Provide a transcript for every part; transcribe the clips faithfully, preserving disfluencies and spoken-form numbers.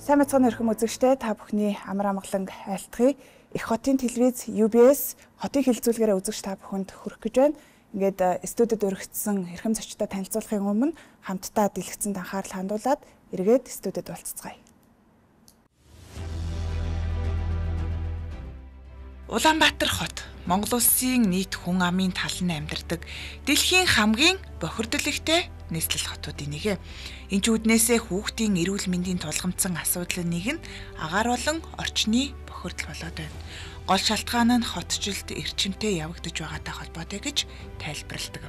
Сайн мэцхан өрхөм үзэгчтэй та бүхний амар амгалан айлтгая. Их хотын телевиз ю би эс хотын хилцүүлгээрээ үзэгч та бүхэнд хүрэх гэж байна. Ингээд студид өргөцсөн эрхэм зочдтой танилцуулахын өмнө хамтдаа дэлгэцэнд анхаарал хандуулад эргээд студид уулзцгаая. Улаанбаатар хот Монгол улсын нийт хүн амын талан амьдардаг дэлхийн хамгийн бохирдлогтой нийслэл хотуудын нэг. Энэ ч үднээсээ хүүхдийн эрүүл мэндийн тулгамдсан асуудлын нэг нь агаар болон орчны бохирдол болоод байна. Гол шалтгаан нь хотчлд эрчимтэй явагдаж байгаатай холбоотой гэж тайлбарладаг.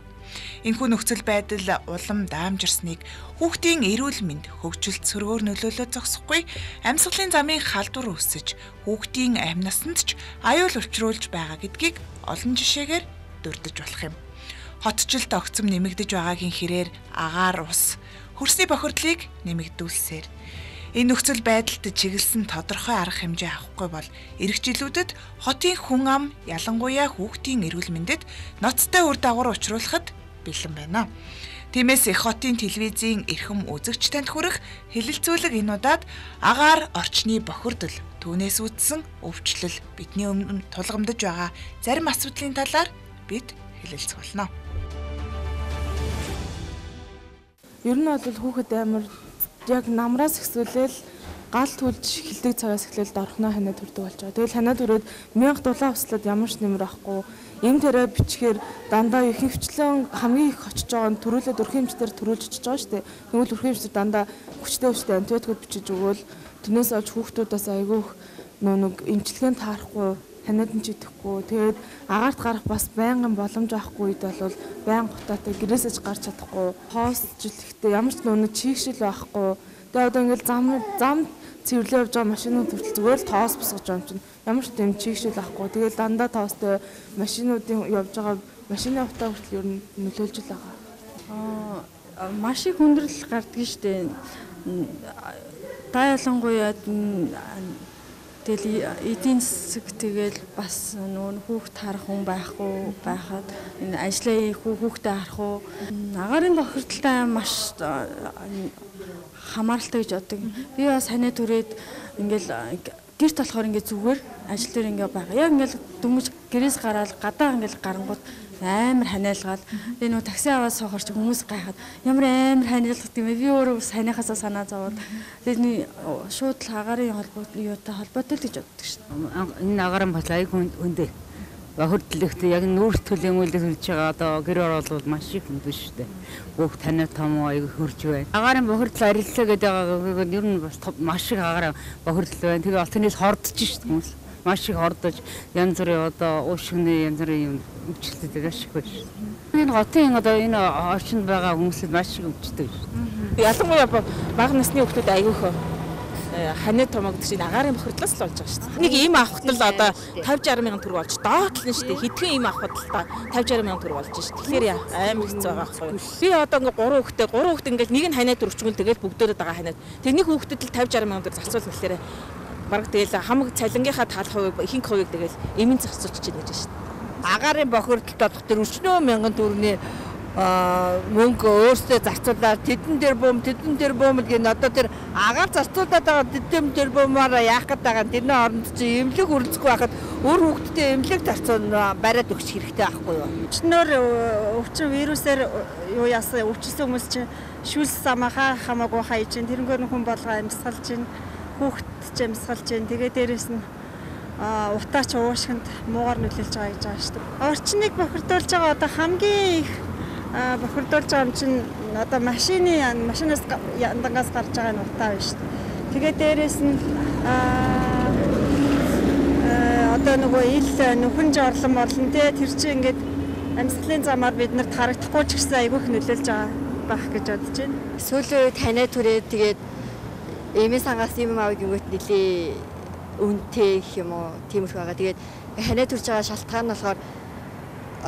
Энэхүү нөхцөл байдал улам даамжирсныг хүүхдийн эрүүл мэнд хөгжилт сөргөөр нөлөөлөө зогсохгүй, амьсгалын замын халдвар үүсэж хүүхдийн амь насанд ч аюул учруулж байгаа гэдгийг олон жишээгээр дурдж болох юм. Хотчлд огцом нэмэгдэж байгаагийн хэрээр агаар ус хөрсний бохирдлыг нэмэгдүүлсээр энэ нөхцөл байдалд чиглэсэн тодорхой арга хэмжээ авахгүй бол эх жилүүдэд хотын хүн ам ялангуяа хүүхдийн эрүүл мэндэд ноцтой үр дагавар учруулахад бэлэн байна. Тиймээс их хотын телевизийн эрхэм үзэгч танд хүрэх хэлэлцүүлэг энэ удаад агаар орчны бохирдол түүнээс үүдсэн өвчлөл бидний өмнө тулгамдж байгаа зарим асуудлын талаар бид хэлэлцэх болно. Ер нь бол хүүхэд амар яг намраас ихсүүлэл гал түлж хилдэг цагаас эхлээл дорхноо ханаа төрдөг болж байгаа. Тэгэл ханаа төрөөд мянга дулаан услаад ямар ч нэмэр авахгүй. Эм тэрэ бичгээр дандаа их хөвчлэн хамгийн их очиж байгаа нь төрүүлээд өрх хэмжээр төрүүлж очиж байгаа шүү дээ. Тэгвэл өрх хэмжээр дандаа хүчтэй хүчтэй антибиотикууд бичиж өгөөл тэрнээс олж хүүхдүүдээс айгүйх нэг эмчилгээнд таарахгүй ханаад нь ч идэхгүй. Тэгээд агаарт гарах бас байнгын боломж авахгүй үед бол байнга хотоотой гэрээсэж гарч чадахгүй. Хоосчлэхдээ ямар ч нүг чийгшил байхгүй. Тэгээд одоо ингээл зам зам цэвэрлээ явж байгаа машинууд хүртэл зүгээр л тоос босгож байгаа юм чинь ямар ч юм чийгшил авахгүй. Тэгээд дандаа тоостой машинуудын явж байгаа машины утаа хүртэл ер нь нөлөөлж л байгаа. Аа маш их хүндрэл гардаг шүү дээ. Та ялангуяа тэгэл эдийн засаг тэгэл бас нүүн хүүхд харах хүн байхгүй байхад энэ ажлаа хүүхдээ харах уу агарын бохирдолтой маш хамааралтай гэж боддог. Би бас ханаа түрээд ингээл гэрт болохоор ингээ зүгээр ажил дээр ингээ байгаа. Яг ингээл дүмж гэрээс гараад гадаа ингээл гарангууд амар ханиалгаад би нөө такси аваад соохорч хүмүүс гайхаад ямар амар ханиалгад юм бэ? Би өөрөө бас ханиахасаа санаа зовоод тэгээд шууд л агарын холбоотой юутай холбоотой л гэж боддог шин. Энэ агарын бол айгүй өндөө. Бохирдлогтой яг нүүрс төлөмөлөд хүрч байгаа одоо гэр оролцол маш их өндөө шүү дээ. Бүх танай том айгүй хөрж байна. Агарын бохирдол ариллаа гэдэг байгаа ер нь бас маш их агарын бохирдол байна. Тэгээ алтнаас хордож шүү дээ хүмүүс. Маш их ордож янз бүрийн одоо уушгины янз бүрийн юм өвчлөлтэй ашиг байна шүү. Энэ хотын одоо энэ орчинд байгаа хүмүүсд маш их өвчтэй шүү. Ялангуяа бага насны хүүхдүүд айгүйх ханаа томог гэдэг чинь агарын бохирдлоос л болж байгаа шүү дээ. Нэг ийм авахт л одоо тавьж арван мянган төгрөг болж доотлно шүү дээ. Хэдхэн ийм авахд л та тавьж арван мянган төгрөг болж шүү. Тэгэхээр амар хэцүү байгаа байхгүй. Би одоо ингээ гурван хүүхдээ гурван хүүхдээ ингээл нэг нь ханаа төрөвчгөл тэгэл бүгдөөд байгаа ханаа. Тэрний хүүхдэд л тавьж арван мянган төгрөг зарцуул гэхээр бараг тэгэл хамаг цалингийнхаа тал хувийг ихэнх хувийг тэгэл эмийн зарцуулж чинь гэж шүү дээ. Агарын бохирдолд болох тэр өчнөө мянган төгрөгийн мөнгө өөрсдөө зарцуулаад тэдэн дээр бөөм тэдэн дээр бөөм гэх нь одоо тэр агаар зарцуулаад байгаа тэдэн дээр бөөмөөр яах гээд байгаа нь тэрний оронд чи эмнэлэг үрэлцэхгүй байхад өөр хүүхдэд эмнэлэг зарцуул бариад өгч хэрэгтэй байхгүй юу? Өчнөр өвчин вирусээр юу яасан өвчсөн хүмүүс чинь шүлс самаха хамаагүй хайж чинь тэрнгөр хүн болгоо амьсгалж чинь хүүхд ч амьсгалж чинь тэгээ дээрэс нь утаач уушгинд муугар нөлөөлж байгаа гэж байгаа шүү дээ. Орчныг бохирдуулж байгаа одоо хамгийн их бохирдуулж байгаа юм чинь одоо машины машинаас яндангаас гарч байгаа нь утаа байна шүү дээ. Тэгээ дээрэс нь одоо нөгөө ил нөхөн жорлон морлон те тэр чинь ингээд амьсгалын замаар бид нарт харагдахгүй ч гэсэн айгүйх нөлөөлж байгаа байх гэж бодож байна. Сүүлийн үед ханаа түрээд тэгээд эмээ сангаас юм авыг юмгт нэлээ үнэтэй гэх юм уу тиймэрхүү байгаа. Тэгээд ханаа төрж байгаа шалтгаан нь болохоор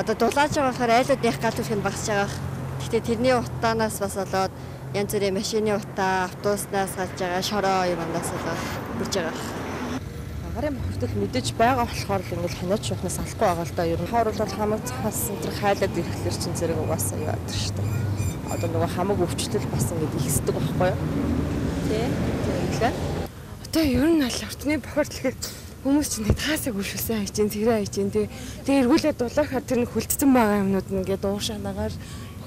одоо дулааж байгаа болохоор айлуудных гал төрх нь багасж байгаа. Гэхдээ тэрний утаанаас бас болоод янз бүрийн машины утаа, автобуснаас гарч байгаа шороо юмнаас болоод бүрж байгаа. Агарын бохирдол мэдээж байгаа болохоор л ингээл ханаач шуухнаас алахгүй байгаа л да. Ер нь хоор бол хамаг цахаас зэрэг хайлаад ирэхлээр чин зэрэг угаасаа яа гэдэг шүү дээ. Одоо нөгөө хамаг өвчлөл бас ингээд ихсдэг байхгүй юу? Тэ. Тэгэхээр Одоо ер нь аль орчны бохирдол хүмүүс чинь таасаг үшүүлсэн хайж, тэрэ хайж, тэгээ эргүүлээд дулаахад тэр нь хүлдсэн байгаа юмнууд нь ингээд уушаанагаар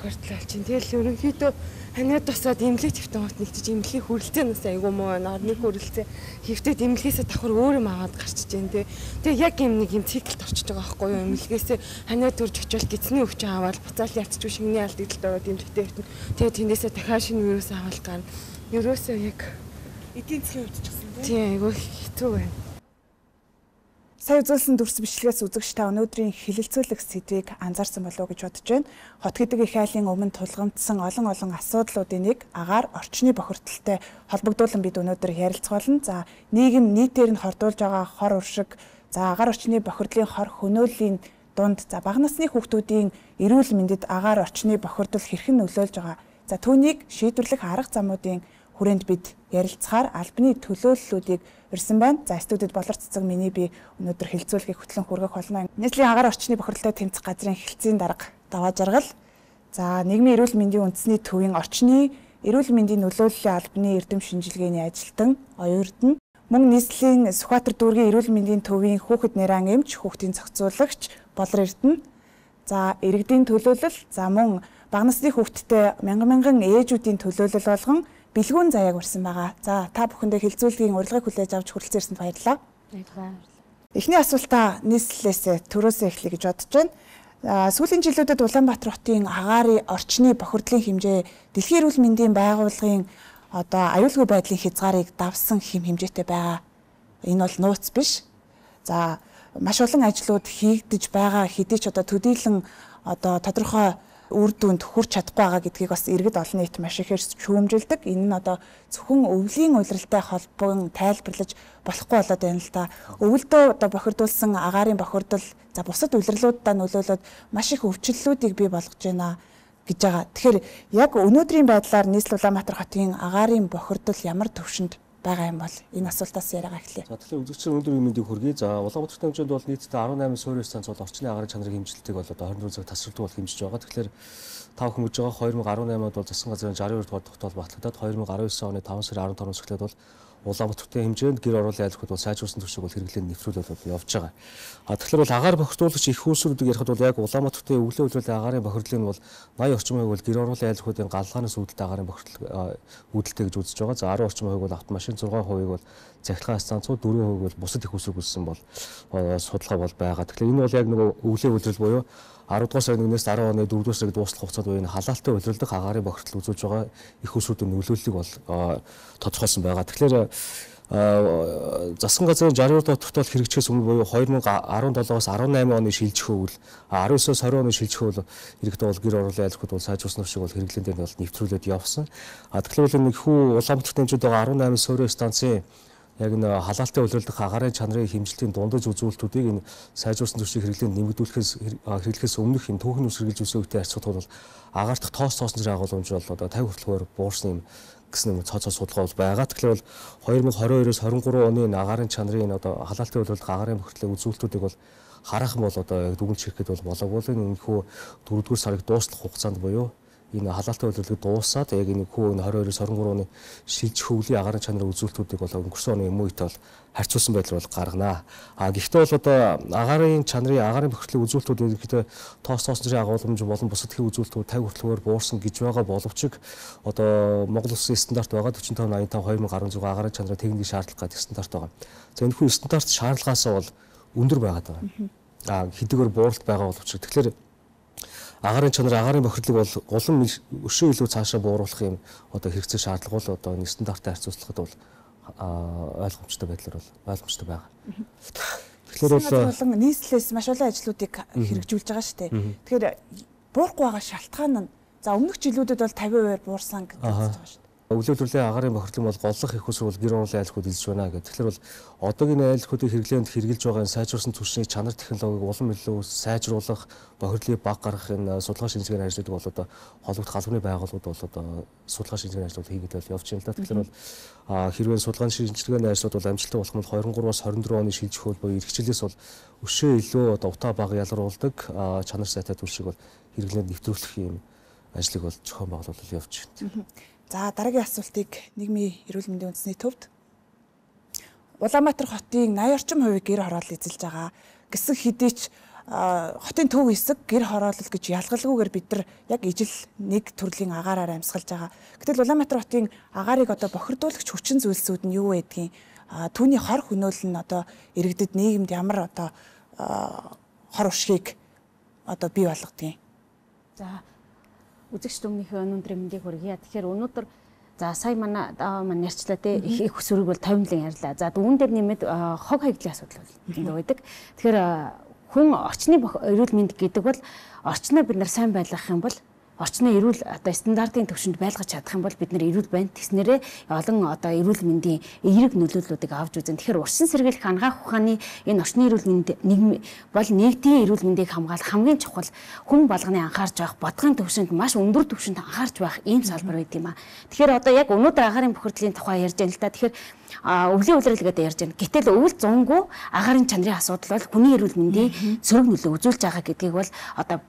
бохирдол болж чинь. Тэгэл ерөнхийдөө ханаад тусаад имлэг твтэн хот нэгтж имлэхийг хүрлцээ нас айгуу муу байна. Орныг хүрлцээ хөвтөд имлэхээсээ давхар өөр юм аваад гарчиж जैन тэ. Тэгээ яг юм нэг юм циклд орчиж байгаа байхгүй юу? Имлэхээсээ ханаад төрж очивол гидсний өвчин аваад буцаал ятчих шингэний алдагдлаа ороод имлэгтэй хөвтөн. Тэгээ тэндээсээ дахиад шинэ вирус аваад гарна. Ерөөсөө яг эдийн засгийн хувьд ч гэсэн тийм айгуу хэцүү байна. Сая үзүүлсэн дүрс бичлэгээс үзэгч та өнөөдрийн хилэлцүүлэх сэдвийг анзаарсан болов уу гэж бодож байна. Хот гэдэг их айлын өмнө тулгамдсан олон олон асуудлуудын нэг агаар орчны бохирдолтой холбогдуулан бид өнөөдөр ярилцах болно. За нийгэм нийтээр нь хордуулж байгаа хор уршиг, за агаар орчны бохирдлын хор хөнөөлийн дунд за бага насны хүүхдүүдийн эрүүл мэндэд агаар орчны бохирдол хэрхэн нөлөөлж байгаа. За түүнийг шийдвэрлэх арга замуудын хүрээнд бид ярилцахаар албаны төлөөллүүдийг ирсэн байна. За студид болор цэцэг миний би өнөөдөр хилцүүлгийг хөтлөн хүргэх болно. Нийслэлийн агаар орчны бохирдолтой тэмцэх газрын хэлтсийн дарга даваа жаргал. За нийгмийн эрүүл мэндийн үндэсний төвийн орчны эрүүл мэндийн нөлөөллийн албаны эрдэм шинжилгээний ажилтан оюурдан мөн нийслэлийн Сүхбаатар дүүргийн эрүүл мэндийн төвийн хүүхэд нэран эмч, хүүхдийн зохицуулагч болор эрдэнэ. За иргэдийн төлөөлөл, за мөн бага насны хүүхэдтэй мянган мянган ээжүүдийн төлөөлөл болгон бэлгүүн заяаг урьсан байгаа. За та бүхэндээ хилцүүлгийн урилгыг хүлээж авч хүрэлцэн ирсэнд баярлалаа. Баярлалаа. Эхний асуултаа нийслэлээс төрөөсөө эхлэе гэж бодож байна. Сүүлийн жилүүдэд Улаанбаатар хотын агаарын орчны бохирдлын хэмжээ Дэлхийн эрүүл мэндийн байгууллагын одоо аюулгүй байдлын хязгаарыг давсан хэм хэмжээтэй байгаа. Энэ бол нууц биш. За маш олон ажлууд хийгдэж байгаа хэдий ч одоо төдийлөн одоо тодорхой үр дүнд хүрч чадахгүй байгаа гэдгийг бас иргэд олон нийт маш ихээр шүүмжилдэг. Энэ нь одоо зөвхөн өвлийн улиралтай холбоон тайлбарлаж болохгүй болоод байна л да. Өвөлдөө одоо бохирдуулсан агаарын бохирдол за бусад улирлуудаа нөлөөлөд маш их өвчлөлүүдийг бий болгож байна гэж байгаа. Тэгэхээр яг өнөөдрийн байдлаар нийслэл Улаанбаатар хотын агаарын бохирдол ямар төвшөнд байгаа юм бол энэ асуултаас яриагаа эхлэе. За тэгэхээр үзэгчдийн өндөр мэндийг хүргэе. За Улаанбаатар хэмжээнд бол нийтдээ арван намын суурь станц бол орчны агаарын чанарын хэмжилтийг бол одоо хорин цаг тасралтгүй бол хэмжиж байгаа. Тэгэхээр тав хүмүүж байгаа хоёр мянга арван наймад бол засгийн газрын шестьдесят хоёр дугаар тогтоол батлагдаад deux mille десять оны таван сарын арван таванаас эхлээд бол Улаанбаатарын хэмжээнд гэр оруулалтын айлхууд бол сайжруулсан төслийг бол хэрэглэн нэвтрүүлээд бол явж байгаа. А тэгэхээр бол агаар бохирдуулагч их үүсвэрүүдийг ярихад бол яг Улаанбаатарын өвлөө үйлрүүлэн агаарын бохирдлыг нь бол восемьдесят орчим хувийг бол гэр оруулалтын айлхуудын галгаанаас үүдэлтэй агаарын бохирдол үүдэлтэй гэж үзэж байгаа. За десять орчим хувийг бол автомашин, зургаан хувийг бол цахилгаан станцууд, дөрвөн хувийг бол бусад их үүсвэр гүйцсэн бол судалгаа бол байгаа. Тэгэхээр энэ бол яг нөгөө өвлөө үйлрэл буюу арав дугаар сарын нэгнээс дөрөв оны дөрөвдүгээр сард дуустал хугацаанд буюу халаалтай улиралдах агаарын бохирдол үзүүлж байгаа их усруудын нөлөөллийг бол тодорхойлсон байгаа. Тэгэхээр засгийн газрын шестьдесят хоёр дугаар тогтоол хэрэгжихээс өмнө буюу deux mille десεπτоос дөрвөн оны шилжих үйл десниос twenty оны шилжих үйл иргэдэд бол гэр оруулалтын айлхууд бол сайжруулсан шиг бол хэрэглэн дээр бол нэвтрүүлээд явсан. А тэгэхээр бол нэг хүү Улаанбаатар хэмжээнд байгаа арван найман суурь станцын яг н халаалтай улирлах агаарын чанарын хэмжилтийн дундаж үзүүлэлтүүдийг энэ сайжруулсан төслийг хэрэглэн нэмэгдүүлэхээс хэрэглэхээс өмнөх юм түүхэн ус хэрэгжилж үсэн үетэй харьцуулахад бол агаарт тоос тоосон зэрэг агуулмж бол одоо пचास хүртэлгээр буурсан юм гэсэн юм цоо цоо судалгаа бол байгаа. Тэгэхээр бол two thousand twenty-two-оос twenty-three оны агаарын чанарын одоо халаалтай улирлах агаарын бохирдлын үзүүлэлтүүдийг бол харах юм бол одоо яг дүгнж хэрэгэд бол болоогүй л энэ хүү дөрөвдүгээр сарыг дуустал хугацаанд буюу энэ халаалтай улирлыг дуусаад яг энэ хүү twenty-two-оос twenty-three оны шилжих хөвлийн агаарын чанарын үзүүлэлтүүдийг бол өнгөрсөн оны юм үйт бол харьцуулсан байдлаар бол гаргана. А гэхдээ бол одоо агаарын чанарын агаарын бохирдлын үзүүлэлтүүд ерөнхийдөө тоос тоосон зэрэг агуулмж болон бусад их үзүүлэлтүүд пचास хүртэлгээр буурсан гэж байгаа боловч одоо Монгол Улсын стандарт байгаа forty-five eighty-five two thousand sixteen агаарын чанарын техникийн шаардлага гэдэг стандарт байгаа. За энэ хүү стандарт шаардлагаас бол өндөр байгаад байгаа. А хэдийгээр бууралт байгаа боловч тэгэхээр агаарын чанар агаарын бохирдлыг бол улам өшөө илүү цаашаа бууруулах юм одоо хэрэгцээ шаардлага бол одоо нэг стандарттай харьцуулахад бол ойлгомжтой байдлаар бол ойлгомжтой байгаа. Тэгэхээр бол нийслэлээс маш олон ажлуудыг хэрэгжүүлж байгаа шүү дээ. Тэгэхээр буурахгүй байгаа шалтгаан нь за өмнөх жилүүдэд бол fifty percent буурсан гэж байна шүү дээ. Өвлөө төрлийн агаарын бохирдлын бол голлох их усрал гэр оруулалтын айлхууд илж байна гэх. Тэгэхээр бол одоогийн айлхуудыг хэрэглээнд хэрэгжилж байгаа сайжруулсан түвшний чанар технологиг улам илүү сайжруулах, бохирдлыг баг гаргах энэ судалгаа шинжилгээний ажлуудыг бол одоо холбогдох албаны байгууллагууд бол одоо судалгаа шинжилгээний ажлууд хийгээд явж байна л да. Тэгэхээр бол хэрвээ судалгааны шинжилгээний ажлууд бол амжилттай болох нь twenty-three-аас twenty-four оны шилжих үйл буюу эрхчлэлээс бол өшөө илүү одоо утаа баг ялгаруулдаг чанар сайтай түвшийг бол хэрэглээнд нэвтрүүлэх юм ажлыг бол зохион байгуулалт явж байна. За дараагийн асуултыг нийгмийн эрүүл мэндийн үндэсний төвд. Улаанбаатар хотын аяд орчим хувийг гэр хороол эзэлж байгаа. Гэсэн хэдий ч хотын төв хэсэг гэр хороолол гэж ялгалгүйгээр бид нар яг ижил нэг төрлийн агаараар амьсгалж байгаа. Гэтэл Улаанбаатар хотын агаарыг одоо бохирдуулагч хүчин зүйлсүүд нь юу байдгийг, түүний хор хөнөөл нь одоо иргэдэд нийгэмд ямар одоо хор уршгийг одоо бий болгодгийг. За үзэгч дүмнийхээ өнөөдрийн мэндийг хүргье. Тэгэхээр өнөөдөр за сая манай маань ярьчлаа те их өсвөрийг бол товмлон ярьлаа. За дүүн дээр нэмээд хог хаягдлын асуудал бол байдаг. Тэгэхээр хүн орчны эрүүл мэнд гэдэг бол орчноо бид нар сайн байлгах юм бол орчны эрүүл одоо стандартын түвшинд байлгаж чадах юм бол бид нар эрүүл байна. Тэснэрээ олон одоо эрүүл мэндийн эерэг нөлөөллүүдийг авч үзэн. Тэгэхээр урьдчилан сэргийлэх анагаах ухааны энэ орчны эрүүл мэнд нийгэм бол нийгмийн эрүүл мэндийг хамгаалах хамгийн чухал хүн болгоны анхаарч байх бодгын түвшинд маш өндөр түвшинд анхаарч байх ийм салбар байт юм аа. Тэгэхээр одоо яг өнөөдөр агаарын бохирдлын тухай ярьж байна л да. Тэгэхээр өвлийн улирал гэдэг ярьж байна. Гэтэл өвөл зунгүй агаарын чанарын асуудал бол хүний эрүүл мэндийн сөрөг нөлөө үзүүлж байгаа гэдгийг бол одоо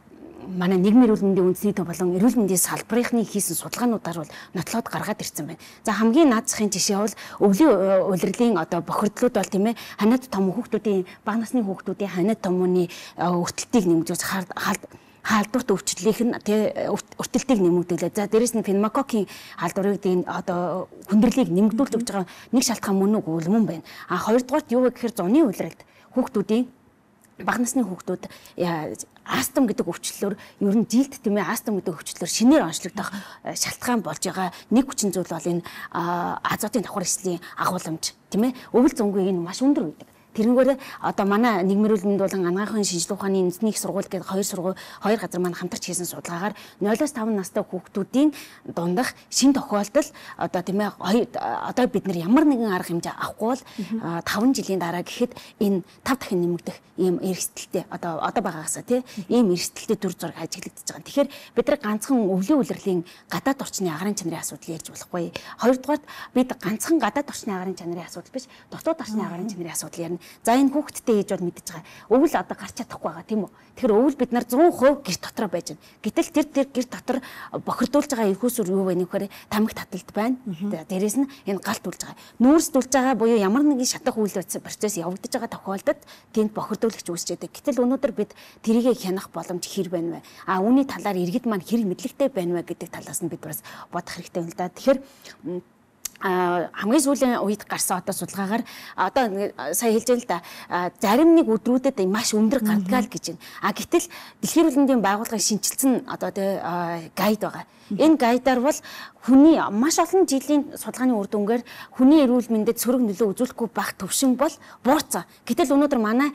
манай нийгмийн эрүүл мэндийн үндэсний төв болон эрүүл мэндийн салбарынхны хийсэн судалгаануудаар бол нотлоод гаргаад ирсэн байна. За хамгийн наад захын жишээ бол өвлийн улирлын одоо бохирдлууд бол тийм ээ ханаад том хүүхдүүдийн бага насны хүүхдүүдийн ханаад томооны өртөлтийг нэмэгдүүлж хаалт хаалдварт өвчлөлийнх нь тий өртөлтийг нэмэгдүүлээ. За дээрэс нь пневмококкийн хаалдварыг одоо хүндрэлийг нэмэгдүүлж өгч байгаа нэг шалтгаан мөн үгүй мөн байна. А хоёрдугаарт юу вэ гэхээр зуны улиралд хүүхдүүдийн бага насны хүүхдүүд астм гэдэг өвчлөлөөр ер нь жилд тийм ээ астм гэдэг өвчлөлөөр шинээр онцлогдох шалтгаан болж байгаа нэг хүчин зүйл бол энэ азотын давхар эслийн агуулмж тийм ээ өвөл зөнгийн энэ маш өндөр байдаг. Тэрнгээр одоо манай нийгмийн эрүүл мэнд болон анагаахын шинжилгээ ухааны үндэсний их сургууль гэдэг хоёр сургууль хоёр газар маань хамтарч хийсэн судалгаагаар нулиас таван настай хүүхдүүдийн дундах шин тохиолдол одоо тийм ээ одоо бид нар ямар нэгэн арга хэмжээ авахгүй бол таван жилийн дараа гэхэд энэ тав дахин нэмэгдэх ийм эрсдэлтэй одоо одоо байгаагасаа тийм ийм эрсдэлтэй төр зураг ажиглагдаж байгаа. Тэгэхээр бид нар ганцхан өвлийн улирлын гадаад орчны агаарын чанарын асуудал ярьж болохгүй. Хоёрдугаарт бид ганцхан гадаад орчны агаарын чанарын асуудал биш дотоод орчны агаарын чанарын асуудал ярина. За энэ хүүхдтэй ээж бол мэдэж байгаа. Өвөл одоо гарч чадахгүй байгаа тийм үү. Тэгэхээр өвөл бид нар нೂறு процент гэрт дотор байж байна. Гэтэл тэр тэр гэрт дотор бохирдуулж байгаа эрхүүсүр юу вэ нөхөр тамхи таталт байна. Дээрээс нь энэ галт үлж байгаа. Нүүрсдүүлж байгаа буюу ямар нэгэн шатах үйл процесс явагдаж байгаа тохиолдолд тэнд бохирдуулагч үүсчихэд. Гэтэл өнөөдөр бид тэрийг хянах боломж хэр байна вэ? А үүний талаар иргэд маань хэр мэдлэгтэй байна вэ гэдэг талаас нь бид бас бодох хэрэгтэй юм л да. Тэгэхээр а хамгийн сүүлийн үед гарсан одоо судалгаагаар одоо сая хэлж байл да зарим нэг өдрүүдэд маш өндөр гардгаал гэж байна. А гэтэл Дэлхийн эрүүл мэндийн байгууллагын шинжилсэн одоо тэ гайд байгаа. Энэ гайдаар бол хүний маш олон жилийн судалгааны үр дүнгээр хүний эрүүл мэндэд сөрөг нөлөө үзүүлэхгүй байх төвшин бол буурсан. Гэтэл өнөөдөр манай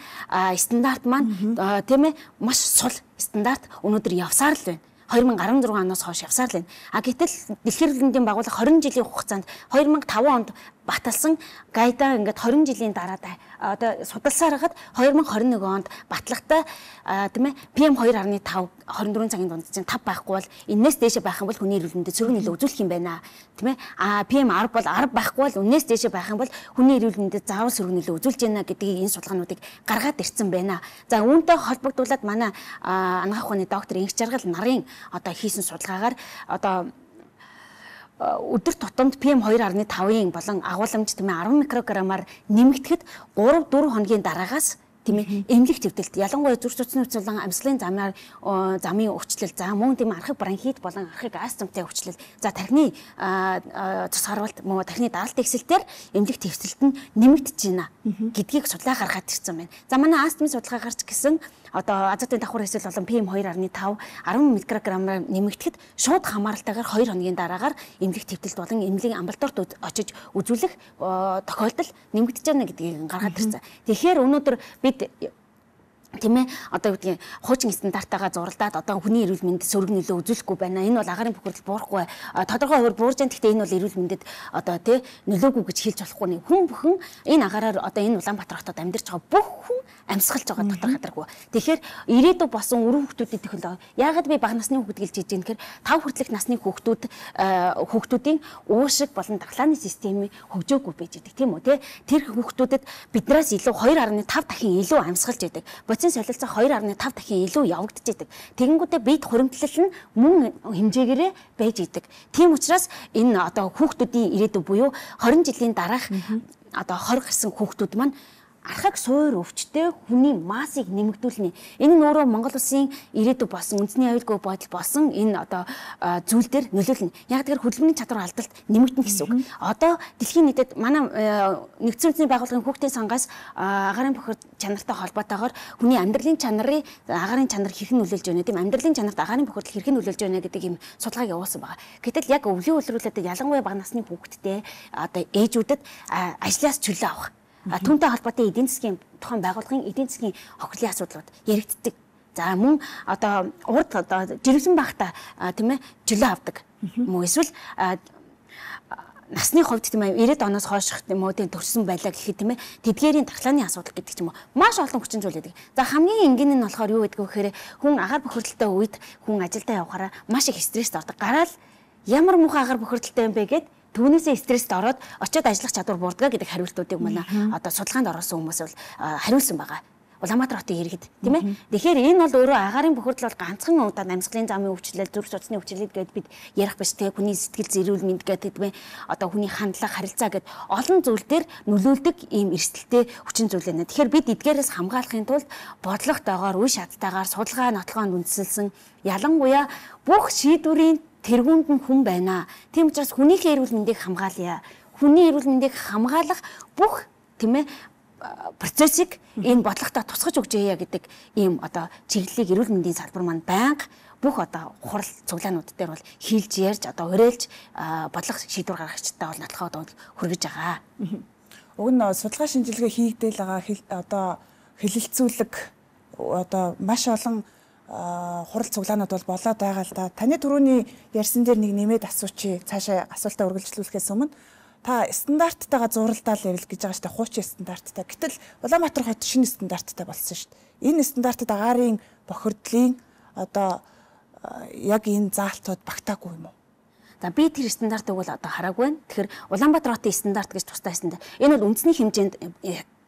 стандарт маань тийм ээ маш сул стандарт өнөөдөр явсаар л байна. две тысячи десять оноос хойш явсаар л байна. А гэтэл Дэлхийн эрүүл мэндийн байгууллага двадцать жилийн хугацаанд две тысячи пять онд баталсан гайдаа ингээд двадцать жилийн дараа одоо судалсаар хагаад две тысячи двадцать one онд батлагтай тийм ээ пи эм two point five twenty-four цагийн дунд чинь five байхгүй бол энэс дээшээ байх юм бол хүний эрүүл мэндэд сөрөг нөлөө үзүүлэх юм байна тийм ээ. А пи эм ten бол ten байхгүй бол энэс дээшээ байх юм бол хүний эрүүл мэндэд заавал сөрөг нөлөө үзүүлж байна гэдгийг энэ судалгаануудыг гаргаад ирсэн байна. За үүнтэй холбогдуулаад манай анагаах ухааны доктор Инх Жаргал нарын одоо хийсэн судалгаагаар одоо өдөр тутамд пи эм two point five-ийн болон агуулмж тийм ээ ten микрограммаар нэмэгдэхэд three four хоногийн дараагаас тийм ээ эмнэлэг төвдөлт ялангуяа зүрх судасны өвчин болон амьслын замаар замын өвчлөл за мөн тийм архив бронхит болон архив астмтай өвчлөл за тархины цус харвалт мөн тархины даралт эксэлтээр эмнэлэг төвсөлт нь нэмэгдэж байна гэдгийг судалгаа гаргаад ирсэн байна. За манай астмын судалгаа гарч гисэн одоо азотын давхар хэсэл болон пи эм two point five ten микрограммаар нэмэгдэхэд шууд хамааралтайгаар two хоногийн дараагаар эмнэлэг төвдөлт болон эмнэлгийн амбулаторид очиж үзүүлэх тохиолдол нэмэгдэж байна гэдгийг гаргаад ирсэн. Тэгэхээр өнөөдөр бид тийм ээ одоо юу гэдгийг хуучин стандартаагаа зуралдаад одоо хүний эрүүл мэндэд сөрөг нөлөө үзүүлэхгүй байна. Энэ бол агаарын бохирдол буурахгүй. Тодорхой хуваар буурж байгаа. Гэхдээ энэ бол эрүүл мэндэд одоо тий нөлөөгүй гэж хэлж болохгүй. Хүн бүхэн энэ агаараар одоо энэ Улаанбаатар хотод амьдарч байгаа бүх хүн амьсгалж байгаа дотор хадаргүй. Тэгэхээр ирээдүйд босон өрөө хүүхдүүдийн технологи яагаад би бага насны хүүхд гэлж хийж байгаа гэхээр тав хүртэлх насны хүүхдүүд хүүхдүүдийн уушиг болон дархлааны системийн хөгжөөгүй байж байгаа тийм үү тий. Тэр хүүхдүүдэд биднээс илүү two point five дахин илүү амьсгалж байдаг. хувцсын солилцоо хоёр гаруй тав дахин илүү явагдаж идэг. Тэгэнгүүтээ бид хуримтлал нь мөн хэмжээгээрээ байж идэг. Тийм учраас энэ одоо хүүхдүүдийн ирээдүй буюу хорин жилийн дараах одоо хор гарсан хүүхдүүд маань архаг суур өвчтэй хүний массыг нэмэгдүүлнэ. Энэ нь өөрөө Монгол улсын ирээдүй болсон үндэсний аюулгүй бодол болсон энэ одоо зүйл дээр нөлөөлнө. Яг тэгэхээр хөдөлмөрийн чадвар алдалт нэмэгдэнэ гэсэн үг. Одоо дэлхийн нийтэд манай нэгдсэн үндэсний байгууллагын хүүхдийн сангаас агаарын бохирд чанартай холбоотойгоор хүний амьдралын чанарын агаарын чанар хэрхэн нөлөөлж байна гэдэм амьдралын чанарт агаарын бохирдол хэрхэн нөлөөлж байна гэдэг юм судалгааг явуулсан байгаа. Гэтэл яг өвлийн үйлрүүлэлтэд ялангуяа бага насны хүүхдтэй одоо ээжүүдэд ажлаас чөлөө авах түүнтэй холбоотой эдийн засгийн тухайн байгууллагын эдийн засгийн хохирлын асуудлууд яригддаг. За мөн одоо урд одоо жирэмсэн багта тийм ээ чөлөө авдаг. Мөн эсвэл насны хувьд тийм ээ ирээд оноос хойших тийм үү төрсэн байлаа гэхэд тийм ээ тэдгээрийн дархлааны асуудал гэдэг ч юм уу маш олон хүчин зүйл байдаг. За хамгийн энгийн нь болохоор юу гэдэг вэ гэхээр хүн агаар бохирдолтой үед хүн ажилдаа явахаараа маш их стресст ордог. Гараал ямар муухай агаар бохирдолтой юм бэ гэд түүнээсээ стресст ороод очиод ажиллах чадвар буурдаг гэдэг хариултуудыг манай одоо судалгаанд оруулсан хүмүүс бол хариулсан байгаа. Улаанбаатар хотын иргэд тийм ээ. Тэгэхээр энэ бол өөрөө агаарын бохирдол бол ганцхан удаа амьсгалын замын өвчлөл, зүрх судасны өвчлөл гэдээ бид ярих биш тийм хүний сэтгэл зэрүүл мэнд гэдэг тийм ээ. Одоо хүний хандлага, харилцаа гэд олон зүйл дээр нөлөөлдөг ийм эрсдэлтэй хүчин зүйл байна. Тэгэхээр бид эдгээрээс хамгаалахын тулд бодлоготойгоор, үе шаттайгаар, судалгаа нотолгоонд үндэслэн ялангуяа бүх шийдвэрийн тэргуунд нь хүн байна. Тийм учраас хүнийхээ эрүүл мэндийг хамгаалъя. Хүний эрүүл мэндийг хамгаалах бүх тийм ээ процессыг энэ бодлоготой тусгаж өгчээе гэдэг ийм одоо чиглэлийг эрүүл мэндийн салбар маань байнга бүх одоо хурал цуглаанууд дээр бол хийлж ярьж одоо уриалж бодлого шийдвэр гаргагчтай бол натлахад хүргэж байгаа. Уг нь судалгаа шинжилгээ хийгдээл байгаа одоо хэлэлцүүлэг одоо маш олон хурал цуглаанууд бол болоод байгаа л да. Таны түрүүний ярьсан дээр нэг нэмээд асуучи цаашаа асуултаа үргэлжлүүлэхээс өмнө та стандарттайгаа зуралдаал явал гэж байгаа шүү дээ. Хуучин стандарттай. Гэтэл Улаанбаатар хот шинэ стандарттай болсон шүү дээ. Энэ стандартад агаарын бохирдлын одоо яг энэ заалтууд багтаагүй юм уу? За би тэр стандартыг бол одоо хараагүй байна. Тэгэхээр Улаанбаатар хотын стандарт гэж тустай байсан. Энэ бол үндэсний хэмжээнд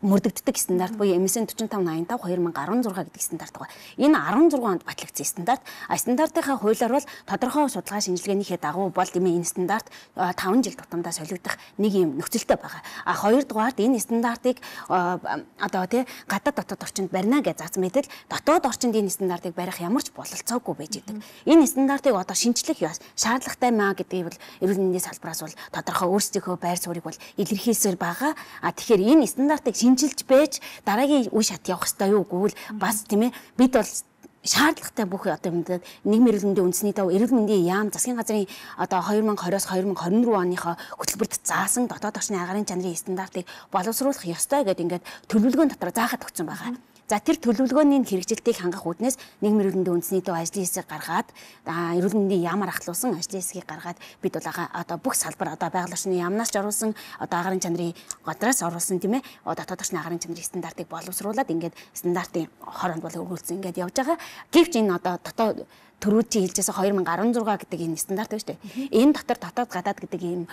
мөрдөгддөг стандарт буюу эм эс эн форty-five eighty-five хоёр мың арван зураг гэдэг стандарт байгаа. Энэ арван зургаан онд батлагдсан стандарт. А стандартынхаа хуулиар бол тодорхой судалгаа шинжилгээнийхээ дагуу бол гэмээ энэ стандарт таван жил тутамдаа солигдох нэг юм нөхцөлтэй байгаа. А хоёрдугаард энэ стандартыг одоо тий гадаад дотоод орчинд барина гэж заасан мэтэл дотоод орчинд энэ стандартыг барих ямар ч бололцоогүй байж идэг. Энэ стандартыг одоо шинжлэх шаардлагатай маа гэдгийг бол эрүүл мэндийн салбараас бол тодорхой өөрсдийнхөө байр суурийг бол илэрхийлсээр байгаа. А тэгэхээр энэ стандартыг шинжилж байж дараагийн үе шат явах хэрэгтэй юу гэвэл бас тийм ээ бид бол шаардлагатай бүх одоо юмдад нийгмийн эрүүл мэндийн үндэсний тав эрүүл мэндийн яам засгийн газрын одоо two thousand twenty-оос two thousand twenty-four оныхоо хөтөлбөрт заасан дотоод орчны агаарын чанарын стандартыг боловсруулах ёстой гэдэг ингээд төлөвлөгөөний дотор заахад өгсөн байгаа. За тэр төлөвлөгөөний хэрэгжилтийг хангах үүднээс нийгмийн эрүүл мэндийн үндэсний төв ажлын хэсэг гаргаад эрүүл мэндийн яамаар ахлуулсан ажлын хэсгийг гаргаад бид бол одоо бүх салбар одоо байгаль орчны яамнаас ч оруулсан одоо агаарын чанарын годраас оруулсан тийм ээ дотоод орчны агаарын чанарын стандартыг боловсруулад ингээд стандартын хоронд бол өргүүлсэн ингээд явж байгаа. Гэвч энэ одоо дотоод төрүүд чи хэлжсэн two thousand sixteen гэдэг энэ стандарт байна шүү дээ. Энэ дотор дотоод гадаад гэдэг ийм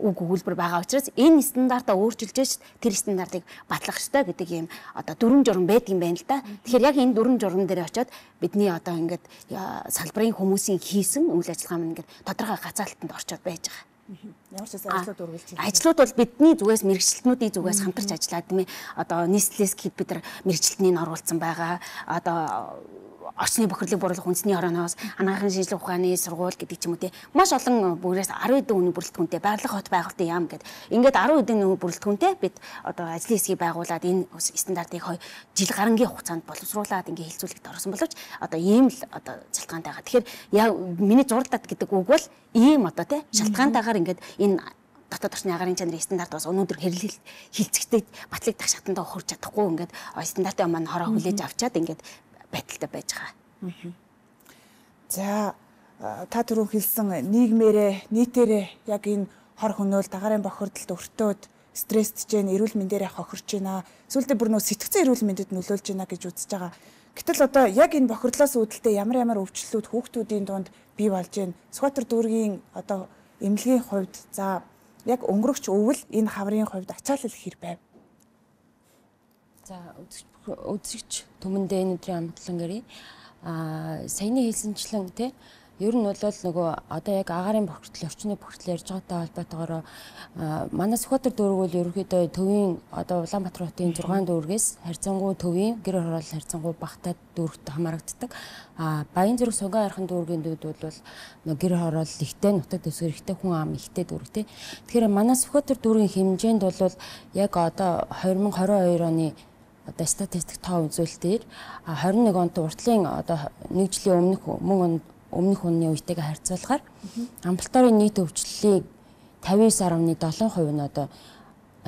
үг өгүүлбэр байгаа учраас энэ стандартаа өөрчилж тэр стандартыг батлах ёстой гэдэг ийм одоо дүрм журм байдаг юм байна л да. Тэгэхээр яг энэ дүрм журм дээр очиод бидний одоо ингээд салбарын хүмүүсийн хийсэн үйл ажиллагаа маань ингээд тодорхой гацаалтанд орчоод байж байгаа. Ямар ч ажлууд үргэлжлэж байна. Ажлууд бол бидний зүгээс мэрэгчлэтнүүдийн зүгээс хамтарч ажиллаад тийм ээ одоо нийслэлээс гэхэд бид нар мэрэгчлэтнийг оруулсан байгаа. Одоо орчны бохирлыг бууруулах үндэсний хорооноос анагаахын шинжилгээ ухааны сургууль гэдэг ч юм уу тий маш олон бүрээс ten хэдэн хүний бүрэлдэхүүнтэй байгалах хот байгуулалтын яам гэдэг ингээд ten хэдэн хүний бүрэлдэхүүнтэй бид одоо ажлын хэсгийг байгуулад энэ стандартыг жил гарангийн хугацаанд боловсруулад ингээд хилцүүлэгт орсон боловч одоо ийм л одоо шалтгаантай байгаа. Тэгэхээр яг миний зурлаад гэдэг үг бол ийм одоо тий шалтгаантайгаар ингээд энэ дотоод орчны агаарын чанарын стандарт бас өнөөдөр хэрлэл хилцэгтэй батлагдах шатандаа хурж чадахгүй ингээд стандартын маань хороо хүлээж авчаад ингээд байдалтай байж байгаа. За та түрүү хэлсэн нийгмээрээ нийтээрээ яг энэ хор хөнөөл дагаарын бохирдолд өртөөд стресстэй жин эрүүл мэндээрээ хохирч байна. Сүүлдээ бүр нөө сэтгцэн эрүүл мэндэд нөлөөлж байна гэж үзэж байгаа. Гэтэл одоо яг энэ бохирдлоос үүдэлтэй ямар ямар өвчлөлүүд хүүхдүүдийн дунд бий болж байна. Сүхбаатар дүүргийн одоо эмнэлгийн хувьд за яг өнгөрөгч өвөл энэ хаврын хувьд ачаалал хэр байв? За үзэж үзэгч түмэндээ энэ өдрийн амгалан гэрээ а саяны хэлсэнчлэн тий ер нь бол нөгөө одоо яг агаарын бохирдол орчны бохирдол ярьж байгаатай холбоотойгоор манай Сүхбаатар дүүрэг бол ерөнхийдөө төвийн одоо Улаанбаатар хотын зургаан дүүргээс харьцангуй төвийн гэр хороол харьцангуй багтаад дүүрэгт хамаарагддаг. А Баянзүрэг Сонгон архан дүүргийн дүүд бол нөгөө гэр хороол ихтэй нутаг дэвсгэр ихтэй хүн ам ихтэй дүүрэгтэй. Тэгэхээр манай Сүхбаатар дүүргийн хэмжээнд бол яг одоо две тысячи двадцать two оны одоо статистик тоо үзүүлэлтээр twenty one онт уртлын одоо нэг жилийн өмнөх мөн өмнөх оны үетэйгээ харьцуулахаар амбулаторийн нийт өвчлөлийн fifty-nine point seven percent нь одоо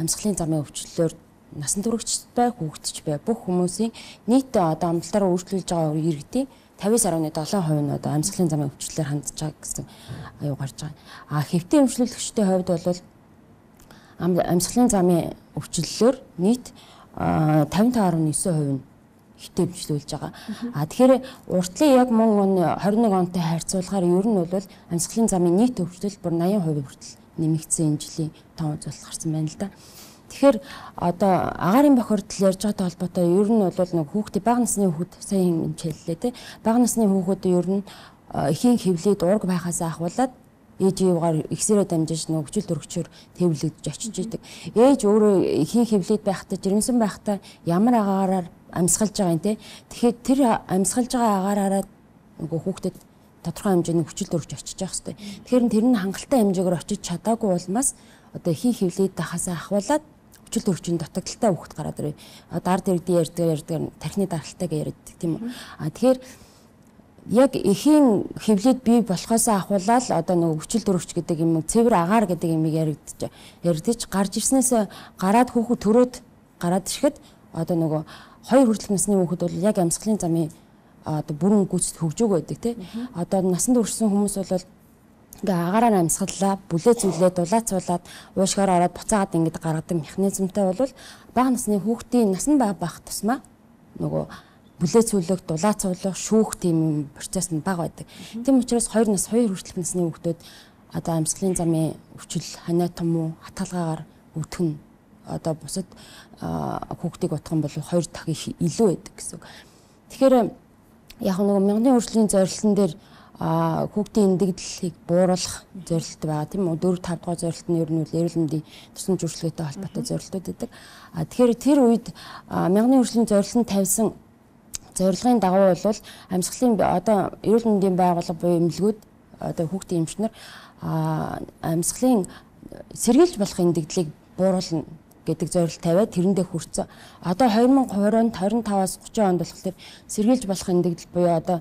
амьсгалын замын өвчлөлөөр насан туршид бай, хүүхдч бай бүх хүмүүсийн нийт одоо амбулатороо үйлчлүүлж байгаа иргэдийн fifty-nine point seven percent нь одоо амьсгалын замын өвчлөлөөр хандж байгаа гэсэн аюу гарч байгаа. А хэвтийн эмчлүүлэгчдийн хувьд бол амьсгалын замын өвчлөлөөр нийт fifty-five point nine percent хитэ эмчлүүлж байгаа. А тэгэхээр уртлын яг мөн он twenty-one онтой харьцуулахаар ер нь бол амьсгалын замын нийт өвчлөл бүр eighty percent хүртэл нэмэгдсэн энэ жилийн тоо үзүүлэлт гарсан байна л да. Тэгэхээр одоо агаарын бохирдол ярьж байгаатай холбоотой ер нь бол нэг хүүхдээ бага насны хүүхэд сайн хэмжээллээ те. Бага насны хүүхэд ер нь эхийн хэвлээд ураг байхаас ахуулаад ээж ивгаар ихсэрээ дамжиж нэг өвчл төрөгчөөр тээвэрлэгдэж очиж идэг. Ээж өөрөө эхийн хэвлээд байхдаа жирэмсэн байхдаа ямар агаараар амьсгалж байгаа юм те. Тэгэхээр тэр амьсгалж байгаа агаараараа нөгөө хүүхдэд тодорхой хэмжээний хүчил төрж очиж явах хэрэгтэй. Тэгэхээр тэр нь хангалттай хэмжээгээр очиж чадаагүй улмаас одоо эхийн хэвлээд байхаас ахуулаад хүчил төрчийн дутагдaltaй хүүхд гараад ирээ. Дард иргэдийн ярьдаг ярьдаг тархины даралтайг ярьдаг тийм үү. А тэгэхээр яг эхийн хэвлээд бий болохоос ахуулаад одоо нөгөө хүчил төрөгч гэдэг юм цэвэр агаар гэдэг юмыг яригдчих яригдчих гарч ирснээс гараад хүүхэд төрөөд гараад ирэхэд одоо нөгөө хоёр хүртэлх насны хүүхэд бол яг амьсгалын замын одоо бүрэн гүйцэд хөгжөөг байдаг тий. Одоо насанд хүрсэн хүмүүс бол ингээ агаараар амьсгаллаа, бүлээ зүйлээ дулаацуулаад уушгаар ороод буцаагаад ингээд гаргадаг механизмтай бол бага насны хүүхдийн насан бага байх тусмаа нөгөө бүлээ цүлэг дулаацуулах шүүх тийм процесс нь бага байдаг. Тийм учраас хоёр нас хоёр хүртэлх насны хүүхдүүд одоо амьсгалын замын өвчл ханаа том уу хатгалгаагаар өвтгөн одоо бусад хүүхдийг утгах бол хоёр дахин илүү байдаг гэсэн. Тэгэхээр яг нэг мянган өршлийн зорилтын дээр хүүхдийн эндэгдлийг бууруулах зорилт байгаа тийм үү. four five дугаар зорилт нь ер нь эрүүл мэндийн тусламж үйлчилгээтэй холбоотой зорилтууд байдаг. А тэгэхээр тэр үед мянган өршлийн зорилт нь тавьсан зорилгын дагуу бол амьсгалын одоо эрүүл мэндийн байгууллага буюу эмнэлгүүд одоо хүүхдийн эмчнэр амьсгалын сэргийлж болох эндэгдлийг бууруулна гэдэг зорилт тавиад тэрэндээ хүрсэн. Одоо twenty twenty twenty-five-аас thirty онд болохоор сэргийлж болох эндэгдэл буюу одоо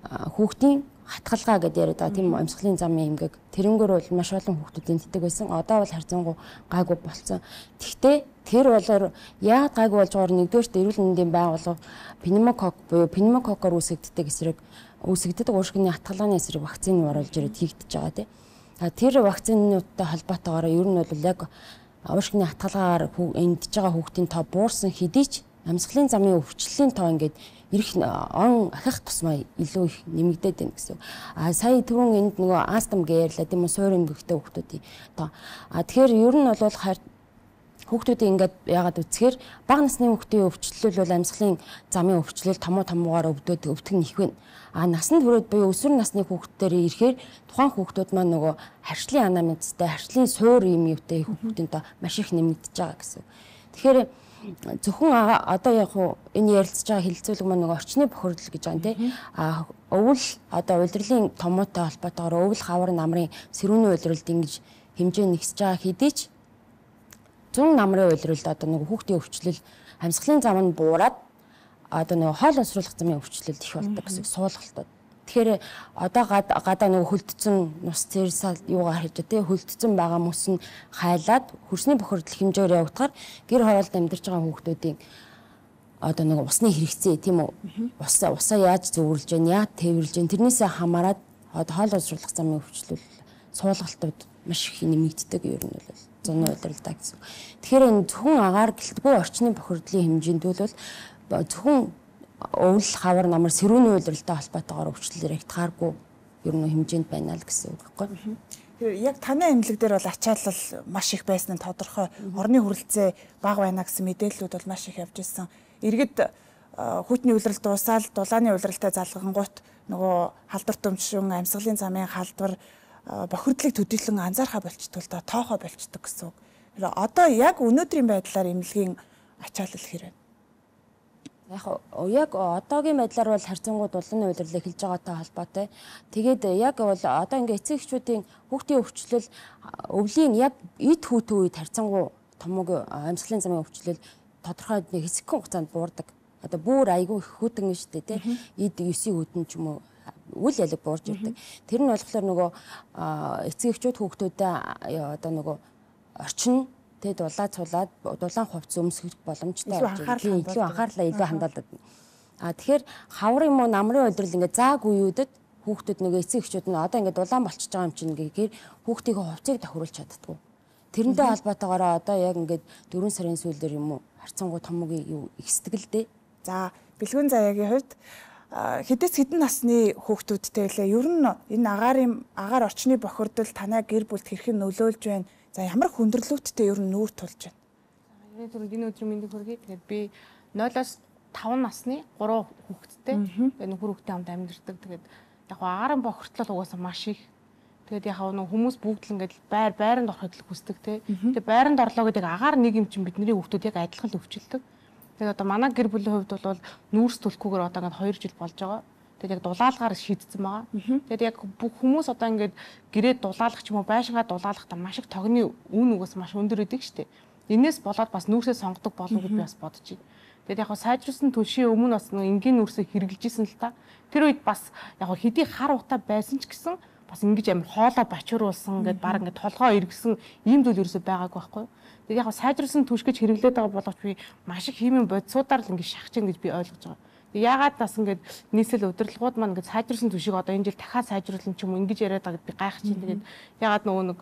хүүхдийн хатгалгаа гэдээ яриад байгаа тийм амьсгалын замын эмгэг тэрнгөр бол маш олон хүүхдүүд энтдэг байсан. Одоо бол харьцангуй гайгүй болцсон. Тэгвэл тэр болоор яагаад гайгүй болж байгаагаар нэгдүгээрт эрүүл мэндийн байгууллага пневмокок буюу пневмококкоор үүсгэгддэг эсрэг үүсгэгддэг уушгины хатгалгааны эсрэг вакцины оруулж ирээд хийгдэж байгаа тийм. Тэр вакцинуудтай холбоотойгоор ер нь бол яг уушгины хатгалгаагаар эндж байгаа хүүхдийн тоо буурсан хэдий ч амьсгалын замын өвчлөлийн тоо ингээд ирэх он ахих тусмаа илүү их нэмэгдээд байна гэсэн. А сая түрүүн энд нөгөө астм гэж ярьлаа тийм үү суур эмгэгтэй хүүхдүүдийн тоо. А тэгэхээр ер нь бол хүүхдүүдийн ингээд яагаад үцхээр бага насны хүүхдийн өвчлөл бол амьсгалын замын өвчлөл томоо томоогаар өвдөд өвтгөн их байна. А насанд хүрээд буюу өсвөр насны хүүхдүүдээр ирэхээр тухайн хүүхдүүд маань нөгөө харьшлын анамнезтэй харьшлын суур юм юутай хүүхдийн тоо маш их нэмэгдэж байгаа гэсэн. Тэгэхээр зөвхөн одоо яг хуу энэ ярилцж байгаа хилцүүлэг маань нэг орчны бохирдол гэж байгаа тийм. А өвөл одоо улирлын томоотой холбоотойгоор өвөл хавар намрын сэрүүний улирлд ингэж хэмжээ нэгсэж байгаа хэдий ч зүүн намрын улирлд одоо нэг хүүхдийн өвчлөл амьсгалын зам нь буураад одоо нэг хоол уусруулах замын өвчлөл их болдог гэсэн суулгалтууд. Тэгэхээр одоо гадаа нэг хөлдсөн нус цэрсал юугаар хийж тий хөлдсөн байгаа мөс нь хайлаад хөрсний бохирдол хэмжээгээр явагдахаар гэр хороолд амьдарч байгаа хүүхдүүдийн одоо нэг усны хэрэгцээ тийм үү усаа усаа яаж зөвөрлж гэн яаж тээвэрлж гэн тэрнээсээ хамаарат одоо хоол уусруулах замын өвчлөл суулгалтууд маш их нэмэгддэг ер нь бол зуны удирдлагаа гэсэн. Тэгэхээр энэ зөвхөн агаар гэлтгүй орчны бохирдлын хэмжээнд бол зөвхөн өвөл хавар намар сэрүүний удирдлагатай холбоотойгоор өвчлөл яригдахааргүй ер нь хэмжээнд байна л гэсэн үг байхгүй. Тэгэхээр яг танай эмнэлэг дээр бол ачаалал маш их байсан нь тодорхой. Орны хүрэлцээ бага байна гэсэн мэдээллүүд бол маш их явж ирсэн. иргэд хүйтний улирал дуусаад дулааны улиралтай залгангуут нөгөө халдвар төмшин амьсгалын замын халдвар бохирдлыг төдийлөн анзаархаа болчтол та тоохоо болчдөг гэсэн үг. Одоо яг өнөөдрийн байдлаар эмнэлгийн ачаалал хэрэг. Яг яг одоогийн байдлаар бол харьцангуй дулааны улирлыг хэлж байгаатай холбоотой. Тэгээд яг бол одоо ингээ эцэг эхчүүдийн хүүхдийн өвчлөл өвлийн яг эд хүүтэн үед харьцангуй томог амьсгалын замын өвчлөл тодорхой нэг хэсэгхэн хугацаанд буурдаг. Одоо бүр айгүй их хүүтэн нь шүү дээ тий. Эд ёсийн хүүтэн ч юм уу үл ялэг буурж ирдэг. Тэр нь болохоор нөгөө эцэг эхчүүд хүүхдүүдэд одоо нөгөө орчин тэгээд дулаа цулаад дулаан хувцс өмсөх боломжтой болж байна. Илүү анхаарлаа илүү хандуулдаг. А тэгэхээр хавар юм уу намрын улирал ингээд зааг үеүүдэд хүүхдүүд нөгөө эцэг эхчүүд нь одоо ингээд дулаан болчихж байгаа юм чинь гэхээр хүүхдийн хувцсыг тохируулж чаддгүй. Тэрнтэй холбоотойгоор одоо яг ингээд дөрвөн сарын сүүлээр юм уу харьцангуй томгийн юу ихсдэг л дээ. За бэлгүүн заяагийн хувьд хэдээс хэдэн насны хүүхдүүдтэй лээ. Ер нь энэ агаарын агаар орчны бохирдол танай гэр бүлд хэрхэн нөлөөлж байна? За ямар хүндрэлүүдтэй ер нь нүүр тулж байна? Миний түрүүнд энэ өдрийн мэндийг хүргэе. Тэгээд би нойлоос таван насны гурван хүүхэдтэй. Тэгээд нөхөр хүүхдтэй хамт амьдардаг. Тэгээд яг агаарын бохирдлол угаасаа маш их. Тэгээд яг нэг хүмүүс бүгд л ингээд байр байранд орохыг л хүсдэг те. Тэгээд байранд орлоо гэдэг агаар нэг юм чинь бидний хүүхдүүд яг адилхан л өвчлөдөг. Тэгээд одоо манай гэр бүлийн хувьд бол нүүрс төлөхгүйгээр одоо ингээд хоёр жил болж байгаа. Тэгээд яг дулаалгаар шийдсэн байгаа. Тэгээд яг бүх хүмүүс одоо ингээд гэрээ дулаалах ч юм уу байшингаа дулаалахдаа маш их тогны үн угаас маш өндөр идэг штеп. Энээс болоод бас нүүрсээ сонгодог болов гэж би бас бодож байна. Тэгээд яг хаа сайжруулсан төлшийн өмнө бас нэг энгийн нүүрсээ хэрэгжилж исэн л та. Тэр үед бас яг хэдий хар утаа байсан ч гэсэн бас ингэж амар хоолоо бачууруулсан ингээд баг ингээд толгоо эргэсэн ийм зүйл ерөөсөй байгаагүй байхгүй. Тэгээд яг сайжруулсан түш гэж хэрэглээд байгаа боловч би маш их химийн бодисуудаар л ингээд шахаж гин гэж би ойлгож байгаа. Яагаад бас ингээд нийслэл удирдлагууд маань ингээд сайжруулсан түшийг одоо энэ жил дахиад сайжруулсан ч юм уу ингэж яриад байгаа гэд би гайхаж чинь. Тэгээд яагаад нөгөө нэг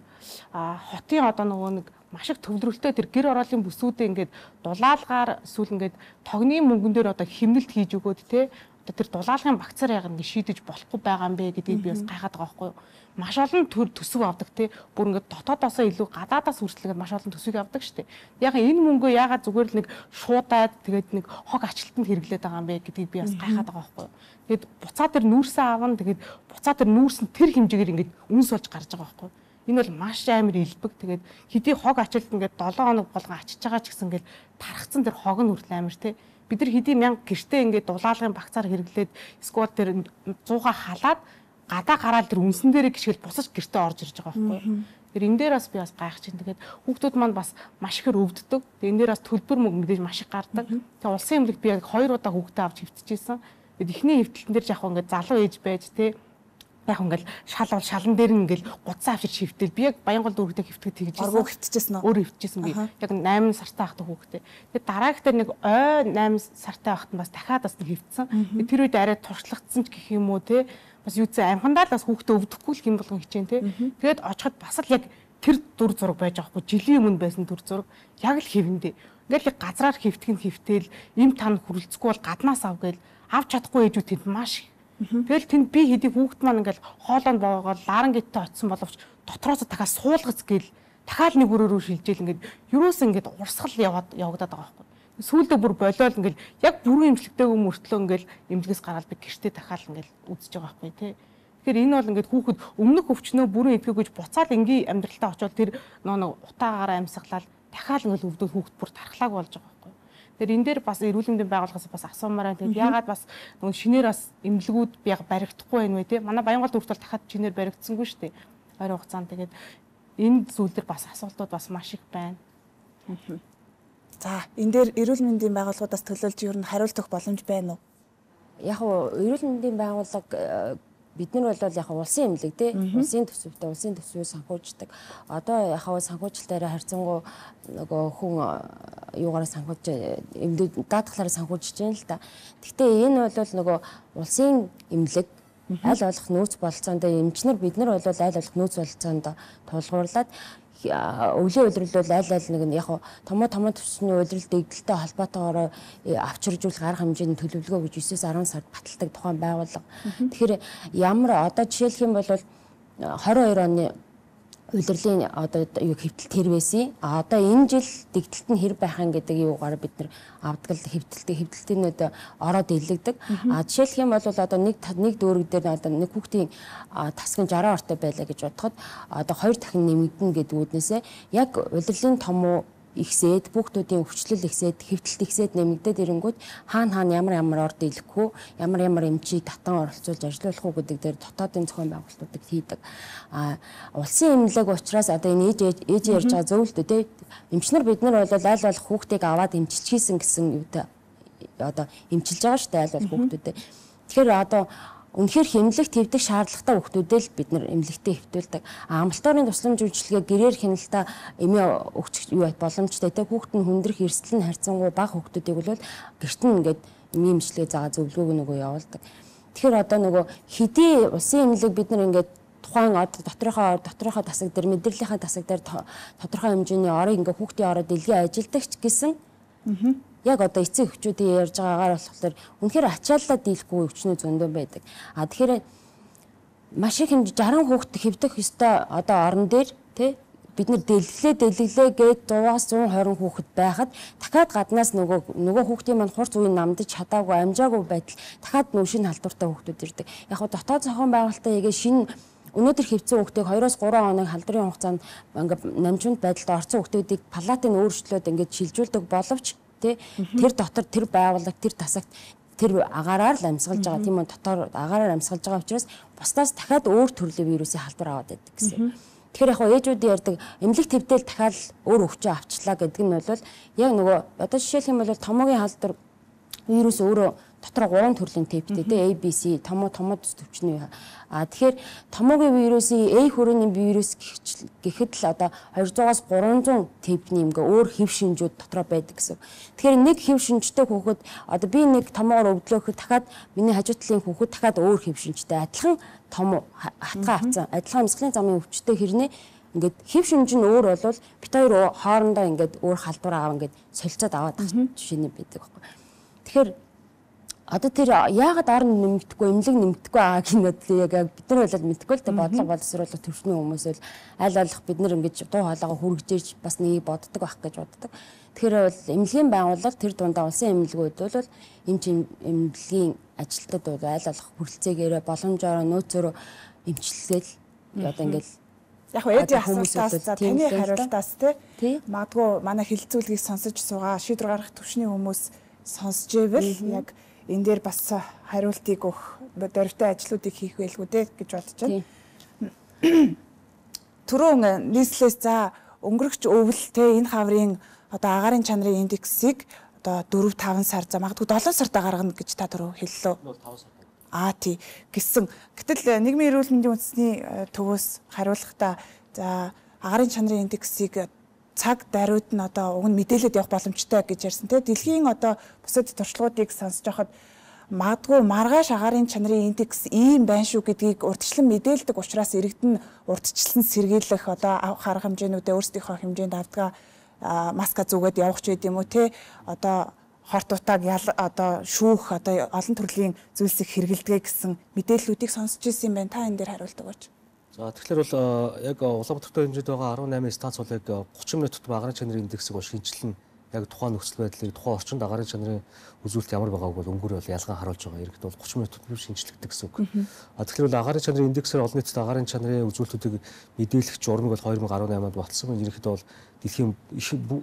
хотын одоо нөгөө нэг маш их төвлөрөлтөө тэр гэр ороолын бүсүүдээ ингээд дулаалгаар эсвэл ингээд тогны мөнгөн дээр одоо химнэлт хийж өгөөд те тэр дулаалгын багцаар яг ингэ шийдэж болохгүй байгаа юм бэ гэдгийг би бас гайхаад байгаа байхгүй юу. Маш олон төр төсөв авдаг те бүр ингэ дотоодоосоо илүү гадаадаас хүртэл маш олон төсвийг авдаг штеп. Яг энэ мөнгөө яагаад зүгээр л нэг шуудаад тэгээд нэг хог ачлалтанд хэрэглээд байгаа юм бэ гэдгийг би бас гайхаад байгаа байхгүй юу. Тэгээд буцаа тэр нүүрсээ аван тэгээд буцаа тэр нүүрс нь тэр хэмжээгээр ингэ үнс болж гарч байгаа байхгүй юу. Энэ бол маш амар илбэг. Тэгээд хэдий хог ачлалт ингээд долоон хоног болгон ачиж байгаа ч гэсэн ингээд тархацсан тэр хог нь хүртэл амар те. Бид нар хэдий мянга гэртээ ингээд дулаалгын багцаар хэрэглээд сквот тэр зууга халаад гадаа гараад тэр үнсэн дээрээ гიშгэл бусаж гэртээ орж ирж байгаа байхгүй юу. Тэр энэ дээр бас би бас гайхаж байна. Тэгээд хүүхдүүд маань бас маш ихээр өвддөг. Тэгээд энэ дээр бас төлбөр мөнгө мэдээж маш их гардаг. Тэгээд улсын эмнэлэгт би яг хоёр удаа хүүхдээ авч хэвтчихсэн. Тэгээд эхний хэвтэлтэн дээр яг ингээд залуу ээж байж те яг ингээл шал бол шалан дээр нь ингээл гудсан авчир шивтэл би яг Баянгол дүүрэгтэй хэвтгэж тэгжсэн. Оргоо хэвтчихсэн үү? Өөр хэвтчихсэн би. Яг восемь сартай ахтай хүүхдээ. Тэгээд дараагтаа нэг ой восемь сартай ахт нь бас дахиад бас хэвтсэн. Тэр үед арай туршлагдсан ч гэх юм уу те. Бас юуцээ амхандаа л бас хүүхдээ өвдөхгүй л хэм болгон хичээн те. Тэгээд очиход бас л яг тэр дүр зураг байж байгаа хгүй. Жилийн өмнө байсан дүр зураг яг л хэвэндээ. Ингээл газраар хэвтгэн хэвтэл им тань хүрэлцэхгүй бол гаднаас ав гээл авч чадахгүй ээжүүд тэнд маш тэгэл тэнд би хэдий хүүхд маань ингээл хоолойнд боогоод ларан гиттэй очсон боловч дотроос дахиад суулгац гээл дахиад нэг өрөөрөө шилжээл ингээд юроос ингээд урсгал яваад явагдаад байгаа байхгүй. Сүүлдээ бүр болиол ингээл яг бүрэн эмчилгээтэйг мөртлөө ингээл эмнэлгээс гараад би гэртээ дахиад ингээл үзэж байгаа байхгүй тий. Тэгэхээр энэ бол ингээд хүүхэд өмнөх өвчнөө бүрэн эдгэгүйж буцаад энгийн амьдралтаа очивол тэр нөө утаагаараа амьсгалаад дахиад ингээл өвдөд хүүхэд бүр тархлааг болж байгаа байхгүй. Тэгэхээр энэ дээр бас эрүүл мэндийн байгууллагаас бас асуумаар байна. Тэгээд ягаад бас нөгөө шинээр бас эмнэлгүүд би яг баригдахгүй байна вэ те. Манай Баянгол дүүрт бол дахиад шинээр баригдсангүй шүү дээ. Ойрын хугацаанд тэгээд энэ зүйл дээр бас асуултууд бас маш их байна. За энэ дээр эрүүл мэндийн байгууллагуудаас төлөөлж ер нь хариулт өгөх боломж байна уу? Яг нь эрүүл мэндийн байгууллага бид нар бол яг улсын эмнэлэг тий улсын төсөвтэй улсын төсвөө санхүүждэг. Одоо яг санхүүжилтаараа харьцангуй нөгөө хүн юугаараа санхүүж эмнэлэг даатгалаараа санхүүжиж байна л да. Гэхдээ энэ бол нөгөө улсын эмнэлэг аль болох нөөц бололцоонд эмчнэр бид нар бол аль болох нөөц бололцоонд тулгуурлаад өвлийн улирал бол аль аль нэг нь яг томоо томоо төвчний улирал дэгдэлтэй холбоотойгоор авчиржуулах арга хэмжээний төлөвлөгөө гэж нine дөрвөн сард баталдаг тухайн байгууллага. Тэгэхээр ямар одоо жишээлх юм бол twenty twenty-two оны удирдлагын одоо юу хэвтэлт хэр байсан. А одоо энэ жил дэгдэлт нь хэр байх юм гэдэг юугаар бид нар авдаг л хэвтэлтээ хэвтэлтийн одоо ороод илэгдэг. А жишээлх юм бол одоо нэг нэг дүүрэг дээр одоо нэг хүүхдийн тасгын жараа ортой байлаа гэж бодоход одоо хоёр дахин нэмэгдэнэ гэдэг үднээсээ яг удирдлагын том уу ихсээд хүүхдүүдийн өвчлөл ихсээд хэвтэлт ихсээд нэмэгдээд ирэнгүүт хаана хаана ямар ямар орд илэхгүй ямар ямар эмчийг татан оролцуулж ажиллуулах уу гэдэг дээр дотоодын зохион байгуулалтуудыг хийдэг. А улсын эмнэлэг учраас одоо энэ ээж ээж ярьж байгаа зөвлөлтөө те эмчнэр бид нар бол аль болох хүүхдийг аваад эмчилчихсэн гэсэн юутай одоо эмчилж байгаа шүү дээ аль болох хүүхдүүдээ. Тэгэхээр одоо үнэхээр хэмнэлэг твдэх шаардлагатай хүүхдүүдээ л бид нар эмнэлэгтээ хэвтүүлдэг. Амлалтын тусламж үйлчилгээ гэрээр хяналтаа эмээ өгч юу боломжтой те хүүхэд нь хүндрэх эрсдэл нь харьцангуй бага хүүхдүүдийг бол гэрт нь ингээд эмээ эмчилгээ заа зөвлөгөөг нөгөө явуулдаг. Тэгэхээр одоо нөгөө хэдий улсын эмнэлэг бид нар ингээд тухайн одоо доторхоо доторхоо тасаг дээр мэдрэлийн тасаг дээр тодорхой хэмжээний орыг ингээд хүүхдийн ороод дэлгэн ажилдаг ч гэсэн яг одоо эцэг эхчүүдийн ярьж байгаагаар болохоор үнэхээр ачааллаа дийлэхгүй өвчнөө зөндөө байдаг. А тэгэхээр маш их хэмжээ жарган хүүхэд хэвдэх ёстой одоо орон дээр тий бид нар дэлглээ дэлглээ гээд дугаас зуун хорин хүүхэд байхад дахиад гаднаас нөгөө нөгөө хүүхдийн маань хурц үеийн намдаж чадаагүй амжаагүй байтал дахиад нөө шинэ халдвартай хүүхдүүд ирдэг. Яг хоо дотоод зохион байгуулалтаа игээ шинэ өнөөдөр хэвцэн хүүхдийг хоёроос гурван хоног халдрын хугацаанд ингээд намжуунд байдалд орсон хүүхдүүдийг палатын өөрчлөлтөд ингээд шилжүүлдэг боловч тэр дотор тэр байгууллага тэр тасагт тэр агаараар л амьсгалж байгаа тийм үү дотор агаараар амьсгалж байгаа учраас бусдаас дахиад өөр төрлийн вирусын халдвар аваад байдаг гэсэн. Тэгэхээр яг ээжүүд ярьдаг эмнэлэг твдэл дахиад өөр өвчөө авчлаа гэдэг нь бол яг нөгөө одоо жишээлх юм бол томоогийн халдвар вирус өөрөө дотор гурван төрлийн типтэй тий A B C томо томод төвчний. А тэгэхээр томоогийн вирусын A хүрээний вирус гэхэд л одоо двухсад-аас гурван типний ингээ өөр хэв шинжүүд дотроо байдаг гэсэн. Тэгэхээр нэг хэв шинжтэй хүүхэд одоо би нэг томоогоор өвдлөөхөд дахиад миний хажуу талын хүүхэд дахиад өөр хэв шинжтэй адилхан том хатгаа авсан адилхан амьсгалын замын өвчтэй хэрнээ ингээд хэв шинж нь өөр болвол бит хоёр хоорондоо ингээд өөр халдвар аав ингээд солилцоод аваад жишээний байдаг байхгүй. Тэгэхээр одоо тэр яагаад орон нэмэгдэхгүй эмнэлэг нэмэгдэхгүй аа гинэд яг бид нар болоод мэдхгүй л тэ бодлого боловсруулах төвчний хүмүүс л аль болох бид нар ингэж дуу хоолойгоо хүргэж бас нэг боддог байх гэж боддог. Тэгэхээр бол эмнэлгийн байгууллага тэр дундаа улсын эмнэлгүүд бол эмч эмнэлгийн ажилтнууд бол аль болох хүрэлцээгээрээ боломжоор нөөцөөр эмчилгээл одоо ингээл яг эдийн асуултаас за таны хариултаас те магадгүй манай хилцүүлгийг сонсож суугаа шийдвэр гаргах төвчний хүмүүс сонсож ивэл яг энэ дээр бас хариултыг өгөх дөрвтэй ажлуудыг хийх байлгүй дээ гэж бодож байна. Түрүүн нийслэлээс за өнгөрөгч өвөл те энэ хаврын одоо агаарын чанарын индексийг одоо дөрөв таван сар за магадгүй долоон сартаа гаргана гэж та түрүү хэллээ. Аа тий гэсэн. Гэтэл нийгмийн эрүүл мэндийн үндэсний төвөөс хариулахдаа за агаарын чанарын индексийг цаг даруйд нь одоо уг нь мэдээлэлд явах боломжтой гэж ярьсан тийм дэлхийн одоо бусад туршлагуудыг сонсож байхад магадгүй маргааш агаарын чанарын индекс ийм байна шүү гэдгийг урьдчилан мэдээлдэг учраас иргэдэн урьдчилан сэргийлэх одоо харах хэмжээнүүдээ өөрсдийнхөө хэмжээнд авдаг маска зүгээд явах ч гэдэм үү те одоо хорт утааг одоо шүүх одоо олон төрлийн зүйлсийг хэрэгэлдэг гэсэн мэдээллүүдийг сонсч ирсэн юм байна. Та энэ дээр хариулдаг болж. За тэгэхээр бол яг Улаанбаатарт хэмжээд байгаа арван намын станц бол яг гурван минут тутам агаарын чанарын индексийг бол шинжилнэ. Яг тухайн нөхцөл байдлыг тухайн орчинд агаарын чанарын үзүүлэлт ямар байгааг бол өнгөөр бол ялгаан харуулж байгаа. Иргэд бол гурван минут тутам шинжилдэг гэсэн үг. А тэгэхээр бол агаарын чанарын индексээр олон нийтэд агаарын чанарын үзүүлэлтүүдийг мэдээлэх журмыг бол хоёр мянга арван онд болцсон. Ерөнхийдөө бол дэлхийн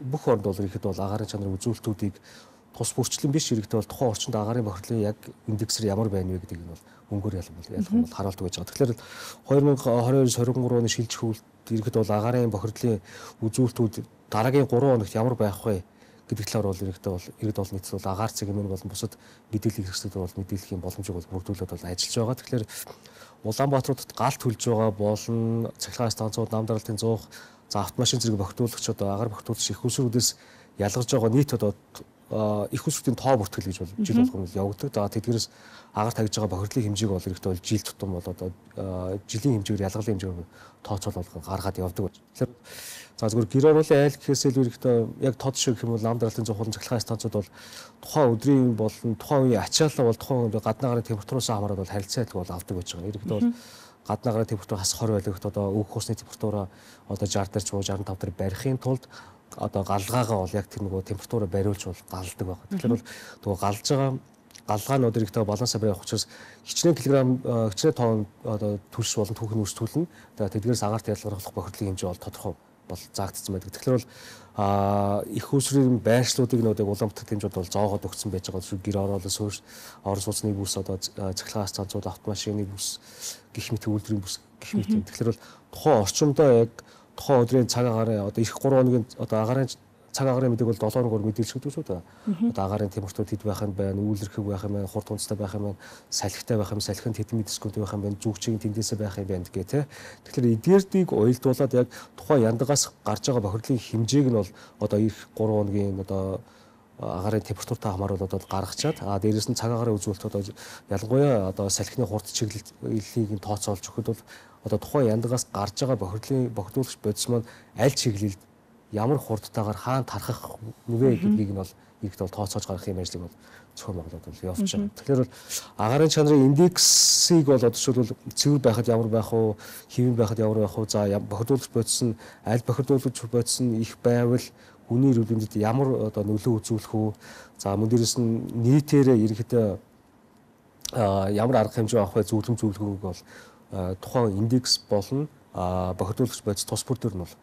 бүх орнд бол ерөнхийдөө бол агаарын чанарын үзүүлэлтүүдийг тус бүрчлэн биш иргэдээ бол тухайн орчинд агаарын бохирлын яг индексээр ямар байна вэ гэдгийг нь бол өнгөөр ялган бол ялган бол харуулдаг байж байгаа. Тэгэхээр хоёр мянга двадцать хоёр двадцать три оны шилжих үйлдэл иргэд бол агаарын бохирлын үзүүлэлтүүд дараагийн гурван хоногт ямар байх вэ гэдэг талаар бол иргэдээ бол иргэд бол нийтэд бол агаар цэгмэн болон бусад мэдээлэл хэрэгслүүд бол мэдээллийн боломжийг бол бүрдүүлээд бол ажиллаж байгаа. Тэгэхээр Улаанбаатарт галт хүлж байгаа болон цахилгаан станцууд, нам даралтын зуух, за автомашин зэрэг бохирдуулагч одоо агаар бохирдуулагч их усруудаас ялгарч байгаа нийт одоо их усруудын тоо бүртгэл гэж бол жил болгоно явагддаг. За тэдгээрээс агаар тавьж байгаа бохирдлын хэмжээг бол ихтэй бол жил тутам бол одоо жилийн хэмжээгээр ялгарлын хэмжээгээр тооцоол болгон гаргаад явдаг. Тэгэхээр за зөвхөн гэр оруулын айл гэхээс илүү ихтэй яг тод шиг юм бол нам даралтын зохиолын цахилгаан станцууд бол тухайн өдрийн болон тухайн үеийн ачаалал бол тухайн гадны гарын температураас хамаарат бол харилцаа адил бол авдаг байж байгаа. Иргэд бол гадны агаарын температур хас хорь байлгахт одоо өөх усны температураа одоо шестьдесят дээр ч шестьдесят и пять дээр барихын тулд одоо галгаагаа бол яг тэр нөгөө температураа бариулж бол галдаг байна. Тэгэхээр бол нөгөө галж байгаа галгаанууд ирэхдээ балансаа барих учраас хичнээн килограмм хичнээн тонн одоо түлш болон түүхийн үрс түлэн тэдгээрээс агаарт ялгаруулах бохирдлын хэмжээ бол тодорхой бол заагдсан байдаг. Тэгэхээр бол их усрын байршлуудыг нөөдөг Улаанбаатар хэмжээд бол зоогоод өгсөн байж байгаа шүү. Гэр ороолоо суурь орон сууцны бүс одоо цахилгаас цанцууд автомашины бүс гэх мэт үйлдвэрийн бүс гэх мэт. Тэгэхээр бол тухайн орчимдоо яг тухайн өдрийн цаг агаарын одоо эх гурван хоногийн одоо агаарын цаг агаарын мэдээг бол долоо хоногор мэдээлж өгдөг шүү дээ. Одоо агаарын температур хэд байх нь байна, үйлэрхэг байх юм байна, хурд унцтай байх юм байна, салхитай байх юм, салхин хэдэн мэдрэскүүд байх юм байна, зүгчийн тэндээсээ байх юм байна гэх тэ. Тэгэхээр эдгээрдийг уялдуулаад яг тухайн яндагаас гарч байгаа бохирдлын хэмжээг нь бол одоо эх гурван хоногийн одоо агаарын температуртай хамааруулаад одоо гаргачаад а дээрээс нь цаг агаарын үзүүлэлт одоо ялангуяа одоо салхины хурд чиглэлийг нь тооцоолж өгөхөд бол одоо тухайн яндагаас гарч байгаа бохирдлын бохирдуулагч бодис маань аль чиглэлд ямар хурдтайгаар хаана тархах нүвэ гэдгийг нь бол иргэд бол тооцоож гаргах юм ажлыг бол зөвхөн Монголд бол явуулж байгаа. Тэгэхээр бол агаарын чанарын индексийг бол одоо жишээлбэл цэвэр байхад ямар байх вэ, хэвэн байхад ямар байх вэ, за бохирдуулагч бодис нь аль бохирдуулагч бодис нь их байвал хүний эрүүл мэндэд ямар одоо нөлөө үзүүлэх үү, за мөн дээрээс нь нийтээрээ ерөнхийдөө ямар арга хэмжээ авах вэ, зөвлөм зөвлөгөөг бол тухайн индекс болон бохирдуулагч бодис тус бүр төр нь бол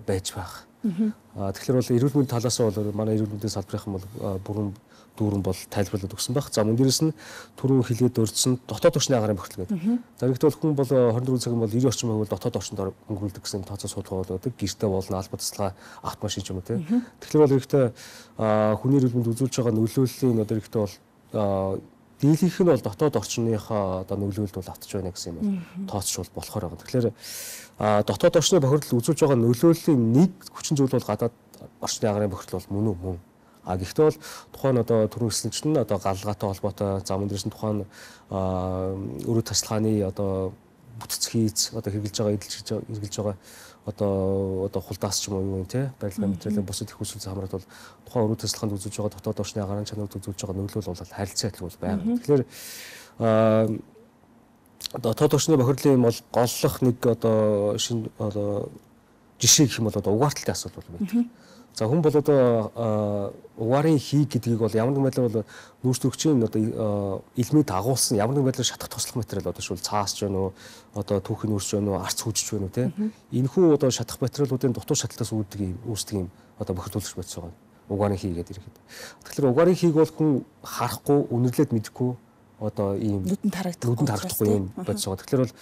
байж байх. Тэгэхээр бол эрүүл мэндийн талаас нь бол манай эрүүл мэндийн салбарын бол бүрэн дүүрэн бол тайлбарлаад өгсөн байх. За мөн дээрээс нь түрүүн хилээд дурдсан дотоод орчны агаарын бохирдол гэдэг. За ихтэй бол хүн бол двадцать четыре цагийн бол ninety орчим хувь дотоод орчинд өнгөрүүлдэг гэсэн тооцоо судалгаа болдог. Гэртээ болно, албан тасалгаа, автомашин ч юм уу тийм. Тэгэхээр бол ихтэй хүний эрүүл мэнд үзүүлж байгаа нөлөөллийн одоо ихтэй бол дийлийнх нь бол дотоод орчныхаа одоо нөлөөлөлд бол автж байна гэсэн юм бол тооцч бол болохоор байгаа. Тэгэхээр дотоод орчны бохирдол үзүүлж байгаа нөлөөллийн нэг хүчин зүйл бол гадаад орчны агаарын бохирдол бол мөн үү мөн. А гэхдээ бол тухайн одоо түрүү хэлсэн чинь одоо галгаатай холбоотой зам дээрс нь тухайн өрөө тасалгааны одоо бүтц хийц одоо хэрэгжилж байгаа эдэлж хэрэгжилж байгаа одоо одоо хулдаас ч юм уу юу юм те барилгын материалын бусад их хүсэл хамраад бол тухайн өрөө тасалгаанд үзүүлж байгаа дотоод орчны агаарын чанарт үзүүлж байгаа нөлөөлөл бол харилцаа адил бол байна. Тэгэхээр дотоод орчны бохирдлын бол голлох нэг одоо шинэ одоо жишээ гэх юм бол одоо угаарталтай асуудал бол байдаг. За хүн бол одоо угаарын хий гэдгийг бол ямар нэгэн байдлаар бол нүүрс төрөгчийн одоо илмийг дагуулсан ямар нэгэн байдлаар шатах туслах материал одоо шул цаас ч байна уу одоо түүхийн нүүрс ч байна уу арц хүчж байна уу те энэхүү одоо шатах материалуудын дутуу шаталтаас үүддэг юм үүсдэг юм одоо бохирдуулагч бодис байгаа угаарын хий гэдэг ирэхэд. Тэгэхээр угаарын хийг бол хүн харахгүй үнэрлээд мэдэхгүй одоо ийм нүдэнд харагдахгүй нүдэнд харагдахгүй юм бодис байгаа. Тэгэхээр бол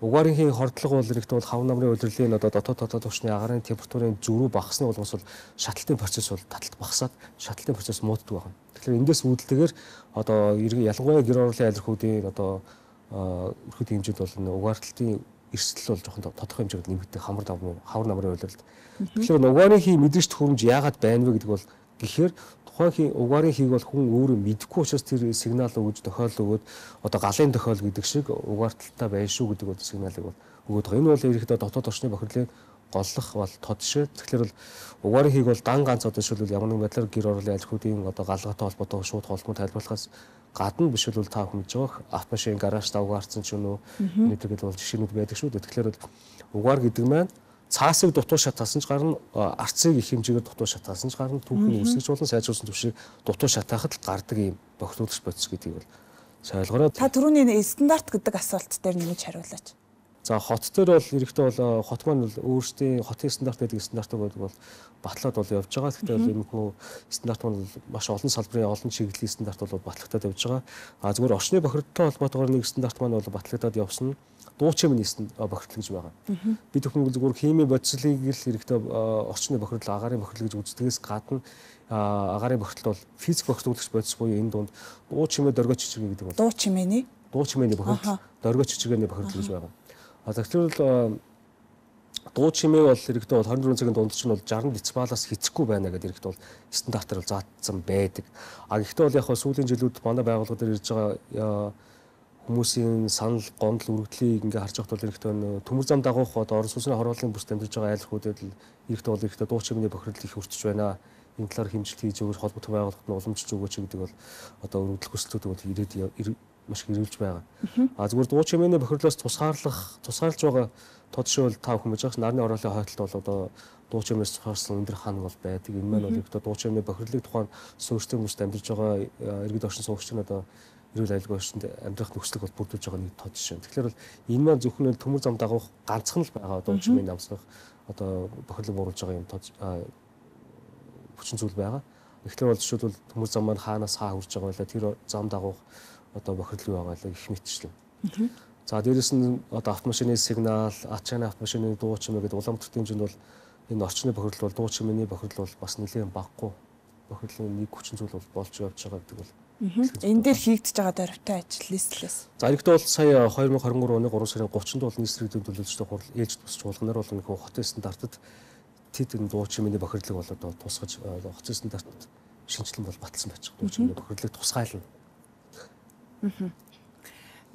угаарын хий хордлого бол ирэхдээ бол хав намрын удирдлагын одоо дотоод дотоод орчны агаарын температурын зөрүү багасны болгоос бол шаталтын процесс бол таталт багасаад шаталтын процесс мууддаг байна. Тэгэхээр эндээс үүдэлтэйгээр одоо ялангуяа гэр ороолын айлрхуудын одоо өрхөд хэмжээд бол угаарталтын эрсдэл бол жоохон тодорхой хэмжээгээр нэмэгдэх хамар давмын хавар намрын удирдалд. Тэгэхээр угаарын хий мэдрэжт хөрөмж яагаад байна вэ гэдэг бол гэхээр тухайн угаарын хийг бол хүн өөрөө мэдэхгүй учраас тэр сигнал өгж тохиол өгөөд одоо галын тохиол гэдэг шиг угаарталтай байна шүү гэдэг бол сигналыг бол өгөөд байгаа. Энэ бол ерөнхийдөө дотоод орчны бохирдлын голлох бол тод шээ. Тэгэхээр бол угаарын хийг бол дан ганц одоо шилбэл ямар нэгэн байдлаар гэр ороолын айлхуудын одоо галгаатай холбоотой шууд холбоо тайлбарлахаас гадна биш бол та хүн мэдж байгаа автомашин гараж та угаарсан ч юм уу нэгтгэл бол жишээнүүд байдаг шүү дээ. Тэгэхээр бол угаар гэдэг маань цаасыг дутуу шатаасан ч гарна, арцыг их хэмжээгээр дутуу шатаасан ч гарна, түүхийн үсгэж болон сайжруулсан төвшийг дутуу шатаахад л гардаг юм бохирдуулагч бодис гэдгийг бол ойлгоорой. Та түрүүний стандарт гэдэг асуулт дээр нэмж хариулаач. За хот дээр бол ерөнхийдөө бол хот маань бол өөрсдийн хотын стандарт гэдэг стандартыг бол батлаад бол явж байгаа. Гэхдээ бол иймэрхүү стандарт маань маш олон салбарын олон чиглэлийн стандарт бол батлагдаад явж байгаа. А зүгээр орчны бохирдолтой холбоотойгоор нэг стандарт маань бол батлагдаад явсан. Дуу чимийн бохирдол гэж байгаа. Би зөвхөн зүгээр химийн бодислыг л хэрэгтэй орчны бохирдол, агаарын бохирдол гэж үздэгээс гадна агаарын бохирдол бол физик бохирдуулагч бодис буюу энэ дунд дуу чимээ дөргөө чичиргээ гэдэг байна. Дуу чимээний дуу чимээний бохирдол, дөргөө чичиргээний бохирдол гэж байгаа. А тэгэхээр дуу чимээ бол хэрэгтэй бол twenty-four цагийн дунд чинь бол sixty децибалаас хэцэхгүй байна гэдэг хэрэгтэй бол стандартаар бол заагдсан байдаг. А гэхдээ бол яг хөө сүүлийн жилүүд манай байгууллага дээр ирж байгаа хүмүүсийн санал гомдол үргэлжлэлийг ингээ харж байхад бол хэрэгтэй төмөр зам дагуух одоо орон сууцны хорооллын бүс дамжиж байгаа айлхуудад л хэрэгтэй бол хэрэгтэй дуу чимээний бохирдол их өртөж байна. Энэ талаар хэмжилт хийж өгөх холбоотой байгууллагад нь уламжлж өгөөч гэдэг бол одоо өргөдөл хүслүүд бол ирээд маш их ирүүлж байгаа. А зүгээр дуу чимээний бохирлоос тусгаарлах тусгаарлаж байгаа тод шил тав хүн байж байгаа. Нарны ороолын хойдолд бол одоо дуу чимээс тусгаарсан өндөр ханаг бол байдаг. Энэ маань бол одоо дуу чимээний бохирлыг тухайн суурьтай хүмүүст амьдарч байгаа иргэд оршин суугч нь одоо эрүүл аюулгүй орчинд амьдрах нөхцөлийг бол бүрдүүлж байгаа нэг тод жишээ. Тэгэхээр бол энэ маань зөвхөн төмөр зам дагуух ганцхан л байгаа дуу чимээний амсгах одоо бохирлыг бууруулж байгаа юм тод хүчин зүйл байгаа. Тэгэхээр бол жишээлбэл төмөр зам маань хаанаас хаа хүрж байгаа байлаа тэр зам дагуух одоо бохирдол юу байгаа л их мэдчихлээ. За дээрэс нь одоо автомашины сигнал, ачааны автомашины дуу чимээ гэдэг Улаанбаатар хэмжээнд бол энэ орчны бохирдол бол дуу чимээний бохирдол бол бас нэлээд багагүй бохирдлын нэг хүчин зүйл бол болж явж байгаа гэдэг бол. Энэ дээр хийгдэж байгаа дөрвтэй ажил нийслэлээс. За иргэдээ бол сая две тысячи двадцать три оны гурван сарын гуравчнд бол нийслэлийн төлөөлөлтөд хурал ээлж тусч уулганаар бол нэг хотын стандартад тэд энэ дуу чимээний бохирдлыг бол одоо тусгаж хотын стандартад шинжилэн бол баталсан байж байгаа. Дуу чимээний бохирдлыг тусгайлна.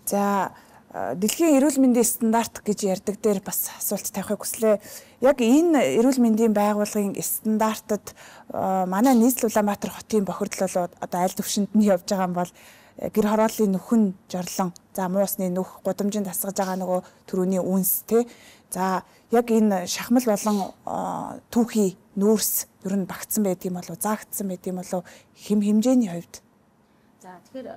За дэлхийн эрүүл мэндийн стандарт гэж ярьдаг дээр бас асуулт тавихыг хүслээ. Яг энэ эрүүл мэндийн байгууллагын стандартад манай нийслэл Улаанбаатар хотын бохирдол бол одоо аль төвшөнд нь явж байгаа юм бол гэр хорооллын нөхөн жорлон, за муусны нүх, гудамжинд тасгаж байгаа нөгөө төрөний үнс тий. За яг энэ шахмал болон түүхий нүүрс ер нь багтсан байдığım болов, заагдсан байдığım болов хэм хэмжээний хувьд. За тэгэхээр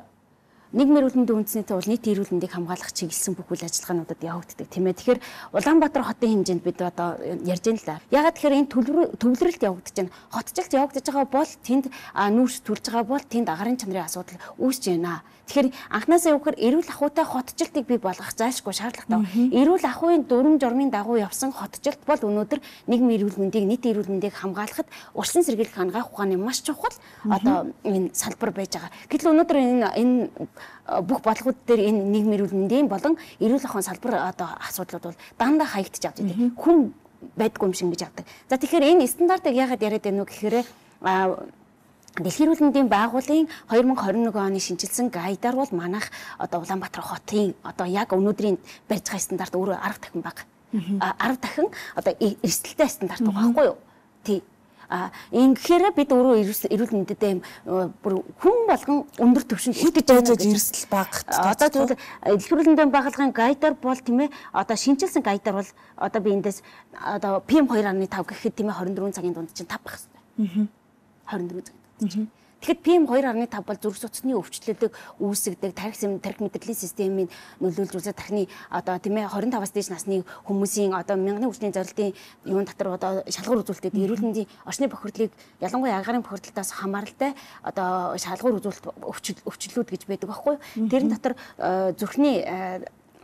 нийгмийн эрүүл мэндийн үндэснийтэй бол нийт эрүүл мэндийг хамгаалах чиглэсэн бүх үйл ажиллагаануудад явагддаг тийм ээ. Тэгэхээр Улаанбаатар хотын хэмжээнд бид одоо ярьж байна л да. Ягаад тэгэхээр энэ төвлөрөлт явагдаж байна. Хотчлт явагдаж байгаа бол тэнд нүүрс төрж байгаа бол тэнд агарын чанарын асуудал үүсэж байна. Тэгэхээр анхнаасаа явахаар эрүүл ахуйтай хотчлтыг бий болгох зайлшгүй шаардлагатай. Эрүүл ахуйн дүрм журмын дагуу явсан хотчлт бол өнөөдөр нийгмийн эрүүл мэндийг нийт эрүүл мэндийг хамгаалахад урьдчилан сэргийлэх хангах ухааны маш чухал одоо энэ салбар байж байгаа. Гэтэл өнөөдөр энэ энэ бүх бодлогууд дээр энэ нийгмийн эрүүл мэндийн болон эрүүл ахуйн салбар одоо асуудлууд бол дандаа хаягдчих авч байдаг. Хүн байдгүй юм шиг гэж авдаг. За тэгэхээр энэ стандартыг яагаад яриад байна вэ гэхээр Дэлхийн эрүүл мэндийн байгууллагын две тысячи двадцать one оны шинжилсэн гайдаар бол манайх одоо Улаанбаатар хотын одоо яг өнөөдрийн барьж байгаа стандарт өөрөө арга дахин бага. арга дахин одоо эрсдэлтэй стандарт байгаа байхгүй юу? Тий. А ингэхээр бид өөрөө эрүүл мэндэд бүр хүн болгон өндөр түвшинд итгэж байгаа эрсдэл багт. Одоо тэгвэл дэлхийн эрүүл мэндийн байгууллагын гайдаар бол тийм ээ одоо шинжилсэн гайдаар бол одоо би эндээс одоо пи эм two point five гэхэд тийм ээ twenty four цагийн дунд чинь five байх хэрэгтэй. twenty four цаг. Тэгэхээр пи эм two point five бол зүрх судасны өвчлөлөг үүсгдэг тарих тарих мэдрэлийн системийн нөлөөлж үзэх тархины одоо тийм ээ twenty-five-аас дээш насны хүмүүсийн одоо мянганы хүчний зорилтын юун дотор одоо шалгуур үзүүлэлтэд эрүүл мэндийн орчны бохирдлыг ялангуяа агаарын бохирдлоос хамааралтай одоо шалгуур үзүүлэлт өвчлөлүүд гэж байдаг байхгүй юу? Тэрэн дотор зүрхний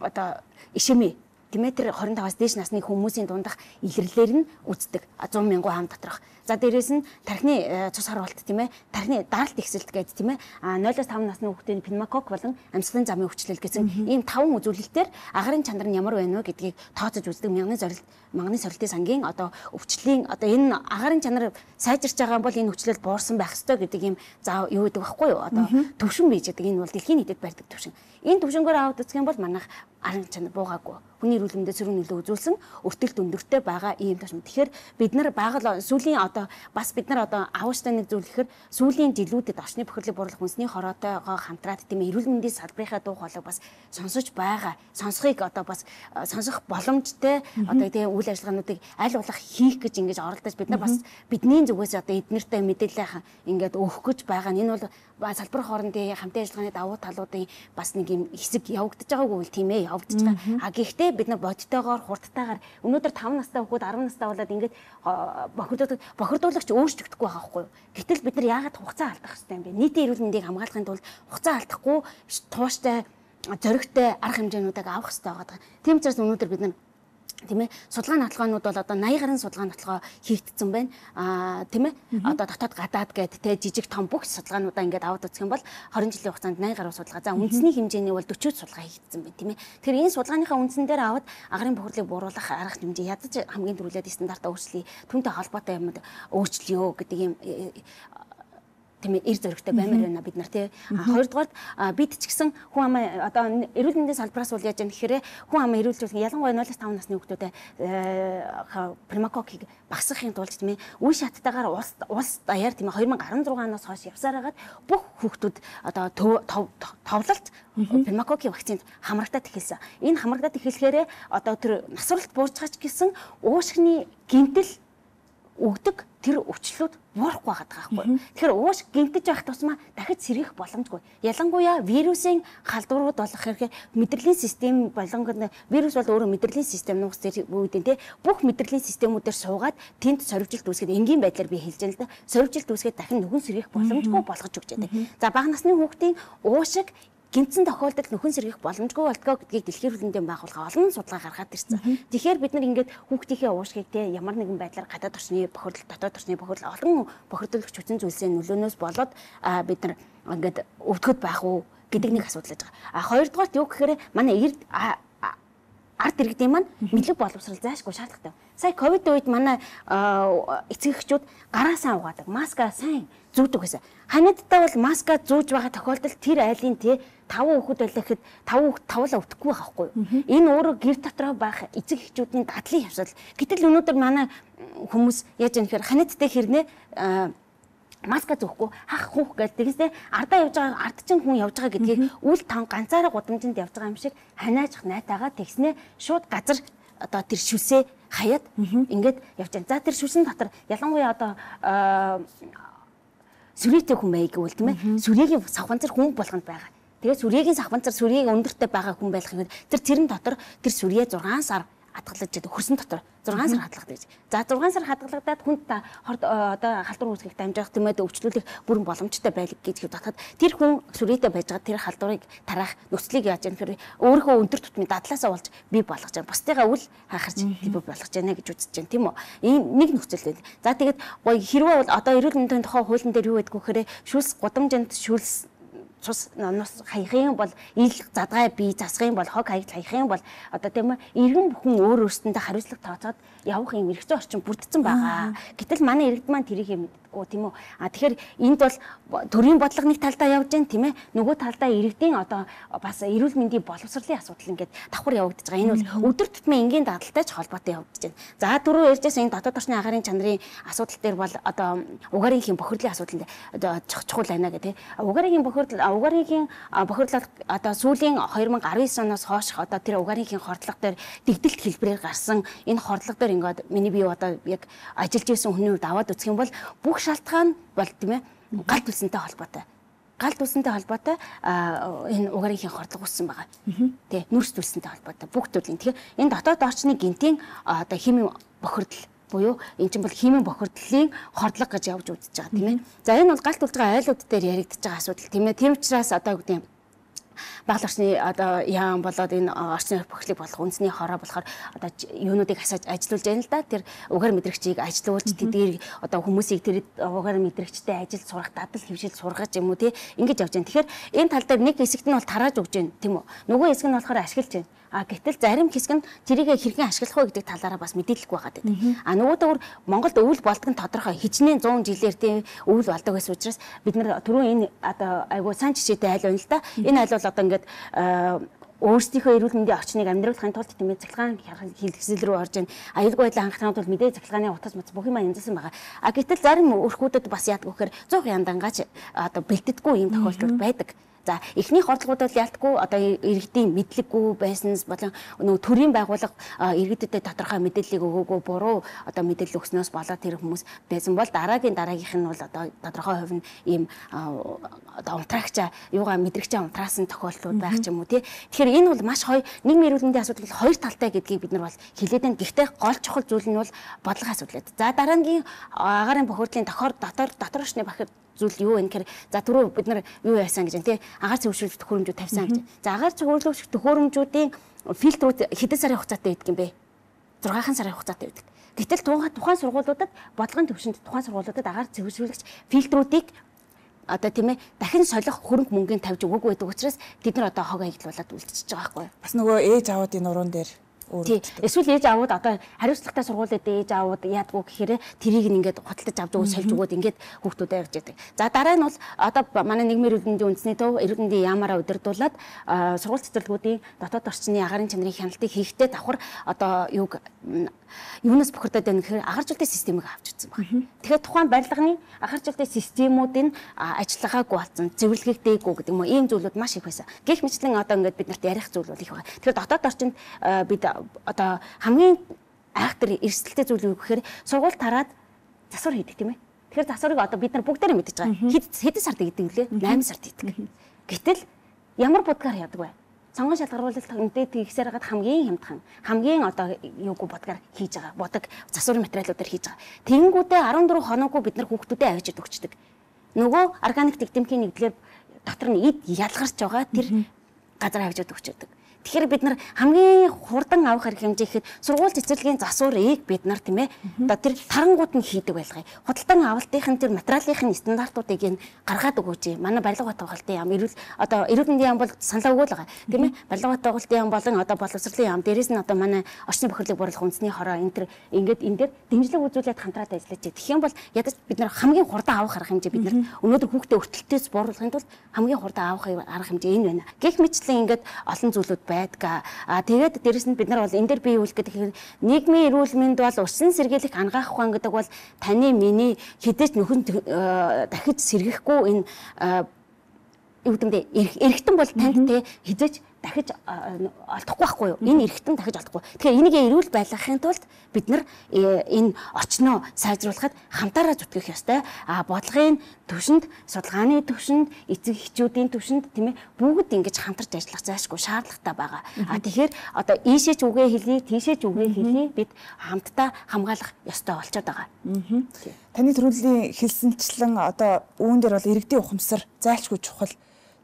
одоо ишемэ тийм ээ тэр twenty-five-аас дээш насны хүмүүсийн дундах илэрлэлээр нь үздэг one hundred мянган хаан доторх. За дээрээс нь тархины цус харуулт тийм ээ тархины даралт ихсэлт гэдэг тийм ээ ноолоос five насны хүүхдийн пневмокок болон амьсгалын замын өвчлөл гэсэн ийм таван үзүүлэлтээр агарын чанар нь ямар байна вэ гэдгийг тооцож үздэг мянганы зорилт манганы сорилтын сангийн одоо өвчлөлийн одоо энэ агарын чанар сайжирч байгаа бол энэ өвчлөл буурсан байх ёстой гэдэг ийм заа юу гэдэг байхгүй юу одоо төвшин бийж гэдэг энэ бол дэлхийн нийтэд барьдаг төвшин. Энэ төвшнгөөр аваад үзэх юм бол манайх арын чанар буугаагүй. Хүний эрүүл мэндэд сөрөг нөлөө үзүүлсэн өртөлт өндөртэй байгаа ийм төвшин. Тэгэхээр бид нар байгаль сүүлийн одоо бас бид нар одоо авууштай нэг зүйл ихэр сүүлийн жилүүдэд орчны бохирлыг бууруулах хүнсний хороотойгоо хамтраад тийм эрүүл мэндийн салбарынхаа дуу хоолойг бас сонсож байгаа. Сонсохыг одоо бас сонсох боломжтой одоо тийм үйл ажиллагаануудыг аль болох хийх гэж ингэж оролдож бид нар бас бидний зүгээс одоо эднэртэй мэдээлэл ингээд өгөх гэж байгаа. Энэ бол салбар хоорондын хамтын ажиллагааны давуу талуудын бас нэг юм хэсэг явагдаж байгаагүй л тийм ээ явагдаж байгаа. А гэхдээ бид нар бодтойгоор хурдтайгаар өнөөдөр five настай хүүхэд ten настай болоод ингээд бохирдуулах бохирдуулагч өөрчлөгдөхгүй байгаа байхгүй юу. Гэтэл бид нар яагаад хугацаа алдах хэрэгтэй юм бэ? Нийтийн эрүүл мэндийг хамгаалахын тулд хугацаа алдахгүй тууштай зоригтой арга хэмжээнүүдийг авах хэрэгтэй байгаа. Тийм учраас өнөөдөр бид нар тийм ээ судалгаа нотолгоонууд бол одоо eighty гаруй судалгаа нотолгоо хийгдсэн байна. Аа тийм ээ одоо дотоод гадаад гэдэг те жижиг том бүх судалгаануудаа ингээд аваад үзэх юм бол twenty жилийн хугацаанд eighty гаруй судалгаа. За үндэсний хэмжээний бол forty судалгаа хийгдсэн байна тийм ээ. Тэгэхээр энэ судалгааныхаа үндсэн дээр аваад агарын бохирлыг бууруулах арга хэмжээ ядаж хамгийн түрүүлээд стандартаа өөрчлөе. Түүнтэй холбоотой юмуд өөрчлөё гэдэг юм тийм ээ эр зөрөгтэй баймаар байна бид нар тий. Хоёрдугаар бид ч гэсэн хүн амаа одоо эрүүл мэндийн салбараас бол яаж юм гэхээр хүн амаа эрүүлжүүлэх ялангуяа нулимс таван насны хүүхдүүдэд пневмококкийг багасгахын тулд тийм ээ үе шаттайгаар улс улс даяар тийм ээ две тысячи десять оноос хойш явсаар хагаад бүх хүүхдүүд одоо товлолт пневмококкийн вакцинд хамрагдаад эхэлсэн. Энэ хамрагдаад эхлэхээр одоо тэр насваралт буурчаач гэсэн уушгины гэмтэл өгдөг тэр өвчлүүд буурахгүй байгаа байхгүй. Тэгэхээр ууш гэмтэж байх тусмаа дахиж сэргийх боломжгүй. Ялангуяа вирусын халдварууд болох хэрэг мэдрэлийн систем болонгод вирус бол өөрөө мэдрэлийн систем нуус зэрэг үүдэн те бүх мэдрэлийн системүүдээр суугаад тэнд сорвжилт үүсгээд энгийн байдлаар би хэлж байна л да. Сорвжилт үүсгээд дахин нүхэн сэргийх боломжгүй болгож өгч яадаг. За бага насны хүүхдийн уушиг гинцэн тохиолдолд нөхөн сэргийх боломжгүй болтгоо гэдгийг дэлхийн эрүүл мэндийн байгууллага олон судалгаа гаргаад ирсэн. Тэгэхээр бид нар ингээд хүүхдийнхээ уушгийг те ямар нэгэн байдлаар гадаад орчны бохирдол, дотоод орчны бохирдол олон бохирдолч хүчин зүйлсийн нөлөөнөөс болоод бид нар ингээд өвдгөд байх уу гэдэг нэг асуудал байж байгаа. А хоёрдугаарт юу гэхээр манай эрд ард иргэдийн маань мэдлэг боловсрал заашгүй шаардлагатай. Сая ковид үед манай эцэг эхчүүд гараасаа угаадаг, маска сайн зүүдэг гэсэн. Ханиадтай бол маска зүүж байгаа тохиолдолд тэр айлын тий таван хүүхэд байлаа гэхэд таван хүүхэд тавлаа өвдөхгүй байх байхгүй юу? Энэ өөрөө гэр дотроо байх эцэг эхчүүдийн дадлын явсал. Гэтэл өнөөдөр манай хүмүүс яаж юм гэхээр ханиадтай хэрнээ маска зөөхгүй хах хүүх гэдэг тэгсээ ардаа явж байгаа ард чинь хүн явж байгаа гэдгийг үл тав ганцаараа гудамжинд явж байгаа юм шиг ханиаж найтаага тэгснээ шууд газар одоо тэр шүлсээ хаяад ингээд явж байгаа. За тэр шүлсэн дотор ялангуяа одоо сүрээтэй хүн байг гэвэл тийм ээ сүрээгийн савханцар хүн болгонд байгаа. Тэгээд сүрээгийн савханцар сүрийг өндөртэй байгаа хүн байх юм. Тэр тэрэн дотор тэр сүрээ зургаан сар хадгалж яадаг хөрсөн дотор зургаан сар хадгалдаг. За зургаан сар хадгалагдаад хүнд та одоо халдвар үүсгэх дамжих тэмээд өвчлүүлэх бүрэн боломжтой байлг гэж бодоход тэр хүн сүрээтэй байж байгаа тэр халдварыг тараах нөхцөлийг яаж яах вэ? Өөрийнхөө өндөр тутмын дадлаасаа болж бий болгож байгаа. Бусдыгаа үл хахарч бий болгож байна гэж үзэж байна тийм үү? Энэ нэг нөхцөл байна. За тэгээд гоё хэрвээ бол одоо эрүүл мэндийн тухай хуулийн дээр юу гэдгүү гэхээр шүлс гудамжинд шүлс цус нос хаяхын бол ил задгай бие засахын бол хог хаягт хаяхын бол одоо тийм ээ иргэн бүхэн өөр өөрсөндөө хариуцлага тооцоод явах юм эргэцэн орчин бүрдсэн байгаа. Гэтэл манай иргэд маань тэрийг мэддэггүй тийм үү. А тэгэхээр энд бол төрийн бодлого нэг талдаа явж байна тийм ээ. Нөгөө талдаа иргэдийн одоо бас эрүүл мэндийн боловсролын асуудал ингээд давхар явагдаж байгаа. Энэ бол өдөр тутмын энгийн дадалтай ч холбоотой явагдаж байна. За дөрөв ярьжсэн энэ дотоод орчны агаарын чанарын асуудал дээр бол одоо угаарынхийн бохирдлын асуудал одоо чухал байна гэх тийм. Угаарынхийн бохирдол угаарынхийн бохирдлол одоо сүүлийн две тысячи десять оноос хойш одоо тэр угаарынхийн хордлого дээр дэгдэлт хэлбэрээр гарсан энэ хордлого дээр ингээд миний бие одоо яг ажиллаж байсан хүний хувьд аваад үзэх юм бол бүх шалтгаан бол тийм ээ галт үлсэнтэй холбоотой. Галт үлсэнтэй холбоотой энэ угаарынхийн хордлого үүссэн байгаа. Тэ нүрс үлсэнтэй холбоотой бүх төрлийн. Тэгэхээр энэ дотоод орчны гинтийн одоо химийн бохирдол буюу эн чинь бол химийн бохирдлын хордлого гэж явж үзэж байгаа тийм ээ. За энэ бол галт үлж байгаа айлууд дээр яригдчихэж байгаа асуудал тийм ээ. Тийм учраас одоо гэдэг юм багал орчны одоо яам болоод энэ орчны бохирдлыг болох үндэсний хороо болохоор одоо юунуудыг асааж ажиллуулж байна л да. Тэр угаар мэдрэгчийг ажилуулж тэдгээр одоо хүмүүсийг тэр угаар мэдрэгчтэй ажил сурах, дадал хөвшил сургаж юм уу тий ингэж явж байна. Тэгэхээр энэ тал дээр нэг хэсэгт нь бол тарааж өгч байна тийм үү. Нөгөө хэсэг нь болохоор ашиглаж байна. А гэтэл зарим хэсэг нь тэрийг хэрхэн ашиглах вэ гэдэг талаараа бас мэдээлэлгүй байгаа гэдэг. А нөгөөдөөр Монголд өвөл болдог нь тодорхой хичнээн сто жилээр тийм өвөл болдог гэсэн учраас бид нар түрүүн энэ одоо айгуу сан жишээтэй айл байна л да. Энэ айл бол одоо ингээд өөрсдийнхөө эрүүл мэндийн орчныг амьдруулахын тулд тийм ээ цахилгаан хэлхсэл рүү орж ийн аюулгүй байдлаа хангахын тулд мэдээ цахилгааны утас мац бүх юм янзсан байгаа. А гэтэл зарим өрхүүдэд бас яадаг вэхээр цуг яндангаач одоо бэлтгэдэггүй юм тохиолдол байдаг. За эхний хордлогууд бол ялтгүй одоо иргэдийн мэдлэггүй байснаас болон нөгөө төрийн байгууллага иргэдэд тодорхой мэдээллийг өгөөгүй буруу одоо мэдээлэл өгснөөс болоод тэр хүмүүс байсан бол дараагийн дараагийнх нь бол одоо тодорхой хувь нь ийм одоо унтраагчаа юугаа мэдрэгчээ унтраасан тохиолдлууд байх ч юм уу тий. Тэгэхээр энэ бол маш хоёр нийгмийн эрүүл мэндийн асуудал хоёр талтай гэдгийг бид нар бол хэлээд байна. Гэхдээ гол чухал зүйл нь бол бодлогын асуудал. За дараагийн агаарын бохирдлын тохиор дотор дотор орчны бохирдол зүйл юу вэ гэхээр за түрүү бид нар юу яасан гэж тий агаар цэвэршүүлэх төхөөрөмжүүд тавьсан гэж. За агаар цэвэрлэгч төхөөрөмжүүдийн фильтрүүд хэдэн сарын хугацаатай байдаг юм бэ? зургаан сарын хугацаатай байдаг. Гэтэл тухайн сургуулиудад бодлогын төвшөнд тухайн сургуулиудад агаар цэвэршүүлэгч фильтрүүдийг одоо тийм ээ дахин солих хөрөнгө мөнгөний тавьж өгөөгүй байдаг учраас бид нар одоо хог аялуулаад үлдчихэж байгаа байхгүй юу? Бас нөгөө ээж аваадын нуруунд дээр Эсвэл ээж аавууд одоо хариуцлагатай сургуулиуд ээж аавууд яадгүй гэхээр тэрийг ингээд худалдаж авч өгөөд сольж өгөөд ингээд хүүхдүүдэд явж яадаг. За дараа нь бол одоо манай нийгмийн эрүүл мэндийн үндэсний төв эрүүл мэндийн яамаараа удирдуулад сургууль цэцэрлэгүүдийн дотоод орчны агаарын чанарын хяналтыг хийхдээ давхар одоо юуг юунаас бохирдоод байна гэхээр агаржуулалтын системийг авч үзсэн байна. Тэгэхээр тухайн барилгын агаржуулалтын системүүдийн ажиллагаагүй болсон, зөвлөгөөг дээгүү гэдэг юм уу ийм зүйлүүд маш их байсан. Гэх мэтлэн одоо ингээд бид нарт ярих зүйл бол их байна. Тэгэхээр дотоод орчинд бид одоо хамгийн айхтар эрсдэлтэй зүйл юу гэхээр сургууль тараад засвар хийдэг тийм ээ. Тэгэхээр засварыг одоо бид нар бүгдээрээ мэдчихэж байгаа. Хэд хэдэн сард хийдэг лээ? найман сард хийдэг. Гэтэл ямар будгаар яадаг вэ? Сонгон шалгаруулалт тэмдээд хийхсээр хагаад хамгийн хямдхан хамгийн одоо юугүй будгаар хийж байгаа. Будаг засварын материалуудаар хийж байгаа. Тэнгүүдээ арван дөрвөн хоноггүй бид нар хүүхдүүдэд авчид өгчдөг. Нөгөө органик тэгтэмхийн нэгдлэр доктор нь эд ялгарч байгаа тэр газар авчид өгчдөг. Тэгэхээр бид нар хамгийн хурдан авах хэрэг хэмжээ ихэд сургууль цэцэрлэгийн засварыг бид нар тийм ээ одоо тэр тарангууд нь хийдэг байлгая. Худалдан авалтын тэр материалын стандартуудыг нь гаргаад өгөөч. Манай барилга бат байгуулалтын яам эрүүл одоо эрүүл мэндийн яам бол саналаа өгөөл байгаа. Тийм ээ барилга бат байгуулалтын яам болон одоо боловсролын яам дээрээс нь одоо манай орчны бохирлыг боруулах үндэсний хороо энэ төр ингээд энэ дээр дэмжлэг үзүүлээд хамтраад ажиллаж байгаа. Тэгэх юм бол ядаж бид нар хамгийн хурдан авах арга хэмжээ бид нар өнөөдөр хүүхдээ өртөлтөөс бууруулахын тулд хамгийн хурдан авах арга хэмжээ энэ байна. Гэх мэтлэн ингээд олон зүйлүүд байдаг. А тэгээд дээрэс нь бид нар бол энэ дээр бий үйлдэх гэхээр нийгмийн эрүүл мэнд бол усан сэргийлэх ангаах ухаан гэдэг бол таны миний хідэж нөхөн дахиж сэргэхгүй энэ юу гэдэг нь эргэтэн бол танд те хизэж дахиж олдохгүй байхгүй юу? Энэ эргэтэн дахиж олдохгүй. Тэгэхээр энийг эрүүл байлгахын тулд бид нар энэ орчноо сайжруулахад хамтаараа зүтгэх ёстой. А бодлогын төвшөнд, судалгааны төвшөнд, эцэг эхчүүдийн төвшөнд тийм ээ бүгд ингэж хамтарч ажиллах зайлшгүй шаардлагатай байгаа. А тэгэхээр одоо ийшээ ч үгээ хэлье, тийшээ ч үгээ хэлье бид хамтдаа хамгаалах ёстой болчиход байгаа. Таны төрөлхийн хэлсэнчлэн одоо үүн дээр бол иргэдийн ухамсар зайлшгүй чухал.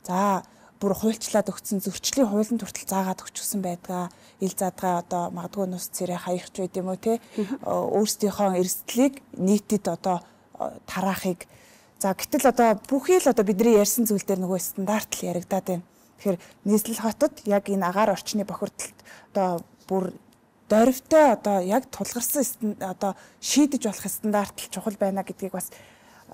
За бүр хуульчлаад өгсөн зөрчлийн хуулийн хүртэл заагаад өгчихсэн байдгаа ил заадгаа одоо магадгүй нус цэрэ хаях ч байд юм уу те өөрсдийнхөө эрсдлийг нийтэд одоо тараахыг за гэтэл одоо бүхий л одоо бидний ярьсан зүйл дээр нөгөө стандарт л яригадаад байна. Тэгэхээр нийслэл хотод яг энэ агаар орчны бохирдолд одоо бүр дорвтой одоо яг тулгарсан одоо шийдэж болох стандарт л чухал байна гэдгийг бас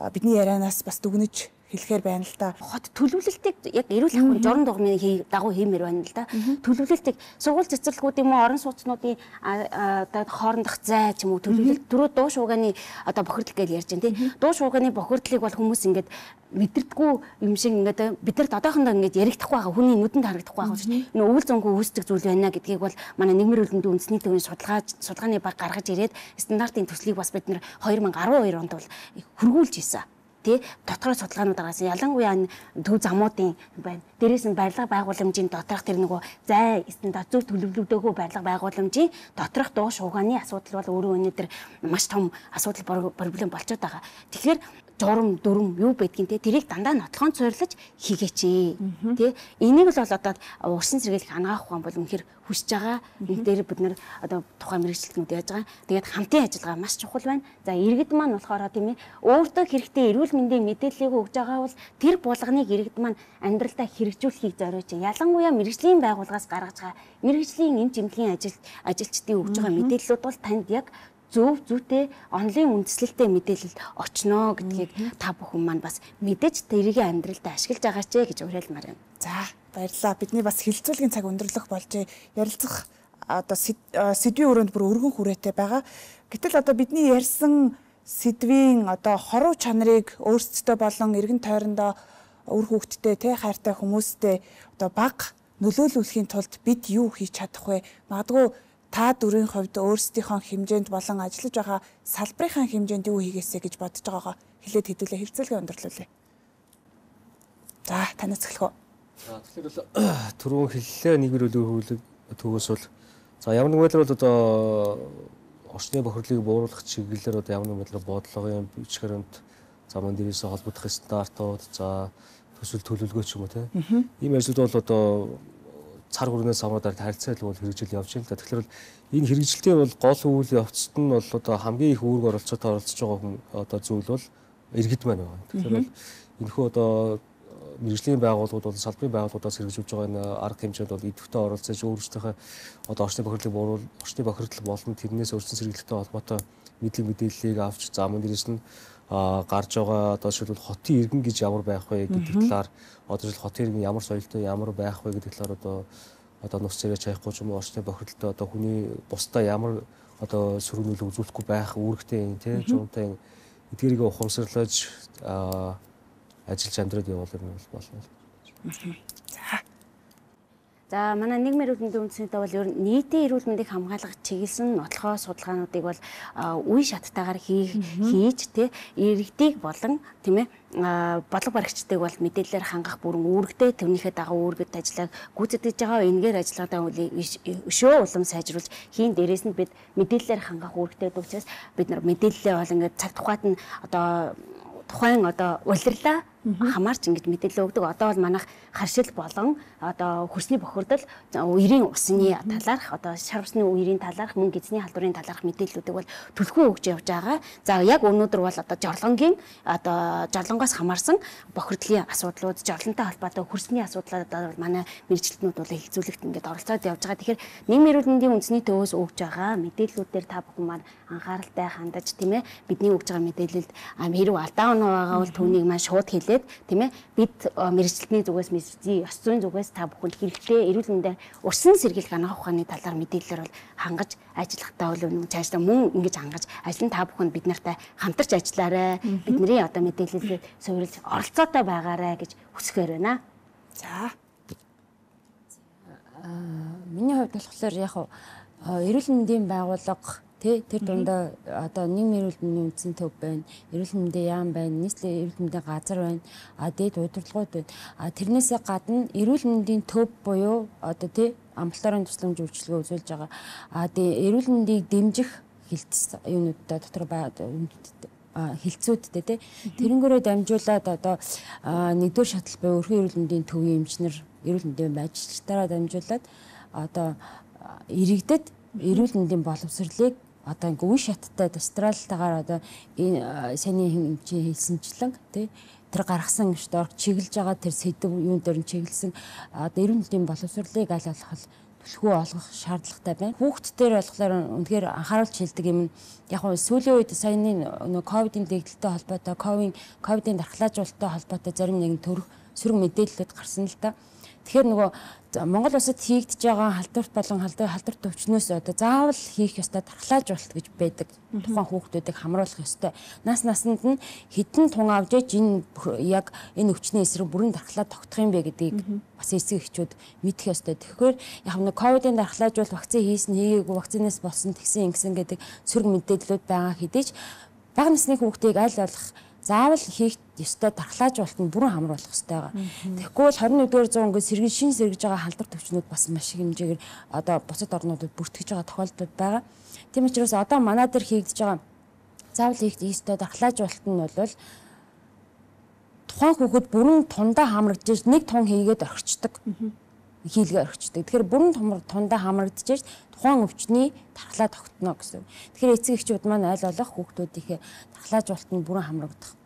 бидний ярианаас бас дүгнэж хэлэхээр байна л да. Хот төлөвлөлтийг яг эрүүл ахуйн журам дугмын дагуу хиймээр байна л да. Төлөвлөлтийг сургууль цэцэрлэгүүд юм уу орон сууцнуудын одоо хоорондох зай ч юм уу төлөвлөлт дөрөв дуу шуугааны одоо бохирдол гэж ярьж байна тий. Дуу шуугааны бохирдлыг бол хүмүүс ингээд мэдэрдэггүй юм шиг ингээд бид нарт одоохондоо ингээд яригдахгүй байгаа хүний нүдэнд харагдахгүй байгаа шүү дээ. Энэ өвөл зөнгөө үүсдэг зүйл байна гэдгийг бол манай нийгмийн эрүүл мэндийн үндэсний төвийн судалгаа судалгааны баг гаргаж ирээд стандартын төслийг бас бид нэр хоёр мянга арван хоёр онд бол хөргүүлж ийсэн. Тэ доторх судалгаанууд гаргасан. Ялангуяа төв замуудын байна. Дээрээс нь барилга байгууламжийн доторх тэр нөгөө зай стандарт зөв төлөвлөгдөөгүй барилга байгууламжийн доторх дуу шуугааны асуудал бол өөрөө өнөөдөр маш том асуудал проблем болчиход байгаа. Тэгэхээр журам дүрм юу байдгийг те тэрийг дандаа нотлохоон цойрлож хийгээч тий энийг л бол одоо урсан сэргийлэх анагаах ухаан бол үнэхээр хүсэж байгаа. Энэ дээр бид нар одоо тухайн мэргэжилтнүүд яаж байгаа. Тэгээд хамтын ажиллагаа маш чухал байна. За иргэд маань болохоор тийм ээ өөртөө хэрэгтэй эрүүл мэндийн мэдээллийг өгж байгаа бол тэр булганыг иргэд маань амьдралдаа хэрэгжүүлэхийг зориулж ялангуяа мэргэжлийн байгууллагаас гаргаж байгаа мэргэжлийн эм чимлэгийн ажил ажилчдын өгж байгаа мэдээллүүд бол танд яг зөв зүйтэй онлайн үндэслэлтэй мэдээлэл очноо гэдгийг та бүхэн маань бас мэдээж тэрийг амьдралдаа ашиглаж байгаа ч гэж уриалмаар байна. За баярлалаа. Бидний бас хилцүүлгийн цаг өндөрлөх болж ярилцах одоо сэдвийн өрөөнд бүр өргөн хүрээтэй байгаа. Гэтэл одоо бидний ярьсан сэдвийн одоо хоруу чанарыг өөрсдөө болон эргэн тойрондоо үр хүүхдтэй те хайртай хүмүүстэй одоо баг нөлөөлүүлэхийн тулд бид юу хийж чадах вэ? Магадгүй та дөрвийн хувьд өөрсдийнхөө хэмжээнд болон ажиллаж байгаа салбарынхаа хэмжээнд юу хийгээсэ гэж бодож байгаагаа хэлээд хэдүүлээ хэлцүүлгээ өндөрлүүлээ. За танаас эхлэх үү. За тэгэхээр бол түрүүн хэллээ нийгмийн эрүүл хөвлөг төгөөс бол за ямар нэг байдлаар бол одоо орчны бохирлыг бууруулах чиглэлээр одоо ямар нэг байдлаар бодлогын бичгээрэнт замын дээрээс холбогдох стандартууд за төсөл төлөвлөгөө ч юм уу тийм ийм ажлууд бол одоо цар хүрнээс хамаараад харилцаал бол хэрэгжил явж байна л да. Тэгэхээр бол энэ хэрэгжилтийн бол гол үйл явцад нь бол одоо хамгийн их үүрэг оролцоотой оролцож байгаа хүн одоо зүйл бол иргэд маань байна. Тэгэхээр бол энэхүү одоо мэрэгжлийн байгууллагууд бол салбарын байгууллагуудаас хэрэгжүүлж байгаа энэ арга хэмжээнд бол идэвхтэй оролцож өөрсдийнхөө одоо орчны бохирдлыг бууруул орчны бохирдол болон тэрнээс өрсөн сэргийлэлтэй холбоотой мэдлэг мэдээллийг авч за мөн дэрэс нь гарч байгаа одоо жишээлбэл хотын иргэн гэж ямар байх вэ гэдэг талаар одоо жишээл хотын иргэн ямар соёлтой ямар байх вэ гэдэг талаар одоо одоо нус царайч хаяхгүй ч юм уу орчны бохирдолтой одоо хүний бусдаа ямар одоо сөргөнөлөг үзүүлэхгүй байх үүрэгтэй юм тий жуунтай эдгээрийг ухамсарлаж ажиллаж амьдраад явуул юм болно. За. За манай нийгмийн эрүүл мэндийн үндэснийдээ бол ер нь нийтийн эрүүл мэндийг хамгаалах чиглэсэн нотлохоо судалгаануудыг бол үе шаттайгаар хийж тэ иргэдийг болон тийм ээ бодлого баригчдыг бол мэдээлэлээр хангах бүрэн үүрэгтэй тэрнийхээ дагуу үүргэд ажиллааг гүйцэтгэж байгаа энэгээр ажиллагаадаа өшөө улам сайжруулж хийн дээрээс нь бид мэдээлэлээр хангах үүрэгтэй учраас бид нар мэдээлэлээ бол ингээд цаг тухайд нь одоо тухайн одоо улирлаа хамаарч ингэж мэдээлэл өгдөг. Одоо бол манайх харшил болон одоо хөрсний бохирдол үерийн усны талаарх одоо шар усны үерийн талаарх мөн гизний халдварын талаарх мэдээллүүдийг бол түлхүү өгч явж байгаа. За яг өнөөдөр бол одоо жорлонгийн одоо жорлонгоос хамаарсан бохирдлын асуудлууд, жорлонтой холбоотой хөрсний асуудлууд бол манай мэрэгчлэтнүүд бол хэлцүүлэгт ингээд оролцоод явж байгаа. Тэгэхээр нийгмийн эрүүл мэндийн үндэсний төвөөс өгж байгаа мэдээллүүдээр та бүхэн маань анхааралтай хандаж тийм ээ бидний өгж байгаа мэдээлэлд хэрэг алдаа оноо байгаа бол түүнийг маань шууд хэлээд тийм ээ бид мэрэгчлэтний зүгээс мэдээ ёс зүйн зүгээс та бүхэнд хэрэгтэй эрүүл мэндийн урьдчилан сэргийлэх анх ухааны талаар мэдээлэлээр бол хангаж ажиллахтаа бол өмнө цаашдаа мөн ингэж хангаж ажлын та бүхэнд бид нартай хамтарч ажиллаарай. Бидний одоо мэдээлэлээ суурилж оролцоотой байгаарай гэж хүсгээр байна. За. Миний хувьд болохоор яг эрүүл мэндийн байгууллага Тэ тэр дундаа одоо нийгмийн эрүүл мэндийн үндэсний төв байна, эрүүл мэндийн яам байна, нийслэлийн эрүүл мэндийн газар байна, а дээд удирдлагууд байна. А тэрнээсээ гадна эрүүл мэндийн төв буюу одоо тий амбулаторын тусламж үйлчилгээ үзүүлж байгаа. А тэгээ эрүүл мэндийг дэмжих хилцс юунуудаа дотор байгаа хилцүүдтэй тий тэрнгээрээ дамжуулаад одоо нэгдүгээр шатал буюу өрхөн эрүүл мэндийн төвийн эмчнэр эрүүл мэндийн байжчлалтаараа дамжуулаад одоо иргэдэд эрүүл мэндийн боловсролыг одоо ингээ үе шаттай достралтайгаар одоо энэ саний хэмжээ хэлсэнчлэн тий тэр гаргасан штор чиглэж байгаа тэр сэдв юун дээр нь чиглэсэн одоо эрүүл мэндийн боловсролыг аль болох түлхүү олгох шаардлагатай байна. Хүүхдтэр болохоор үнэхээр анхааруулж хэлдэг юм нь яг нь сүүлийн үед саяны нөө ковидын дэгдэлтэй холбоотой ковид ковидын дархлаажуулалттай холбоотой зарим нэгэн төрөх сөрөг мэдээлэлүүд гарсан л да. Тэгэхээр нөгөө Монгол улсад хийгдэж байгаа халдварт болон халдварт өвчнөөс одоо заавал хийх ёстой дархлаажуулалт гэж байдаг. Тухайн хүүхдүүдийг хамруулах ёстой. Нас насанд нь хэдэн тун авч иж энэ яг энэ өвчний эсрэг бүрэн дархлаа тогтох юм бэ гэдгийг бас эсэг эхчүүд мэдэх ёстой. Тэгэхээр яг нэг ковидын дархлаажуулалт вакцины хийсэн хийгээгүй вакцинаас болсон тэгсэн ингэсэн гэдэг сөрөг мэдээллүүд байгаа хэдий ч бага насны хүүхдийг аль болох заавал хийх ёстой дархлаажуулалт нь бүрэн хамруулах ёстой байгаа. Тэгэхгүй бол хорин нэгдүгээр зуун ингээд сэргий шин сэргэж байгаа халдвар төвчнүүд бас маш их хэмжээгээр одоо бусад орнуудад бүртгэж байгаа тохиолдлууд байгаа. Тийм учраас одоо манай дээр хийгдэж байгаа заавал хийх ёстой дархлаажуулалт нь бол тухайн хүүхэд бүрэн тундаа хамрагдж нэг тун хийгээд орхичдаг. Хийлгээ орхичдаг. Тэгэхээр бүрэн тундаа хамрагдж тухайн өвчний дархлаа тогтно гэсэн. Тэгэхээр эцэг эхчүүд маань аль болох хүүхдүүдийнхээ дархлаажуулалт нь бүрэн хамрагдах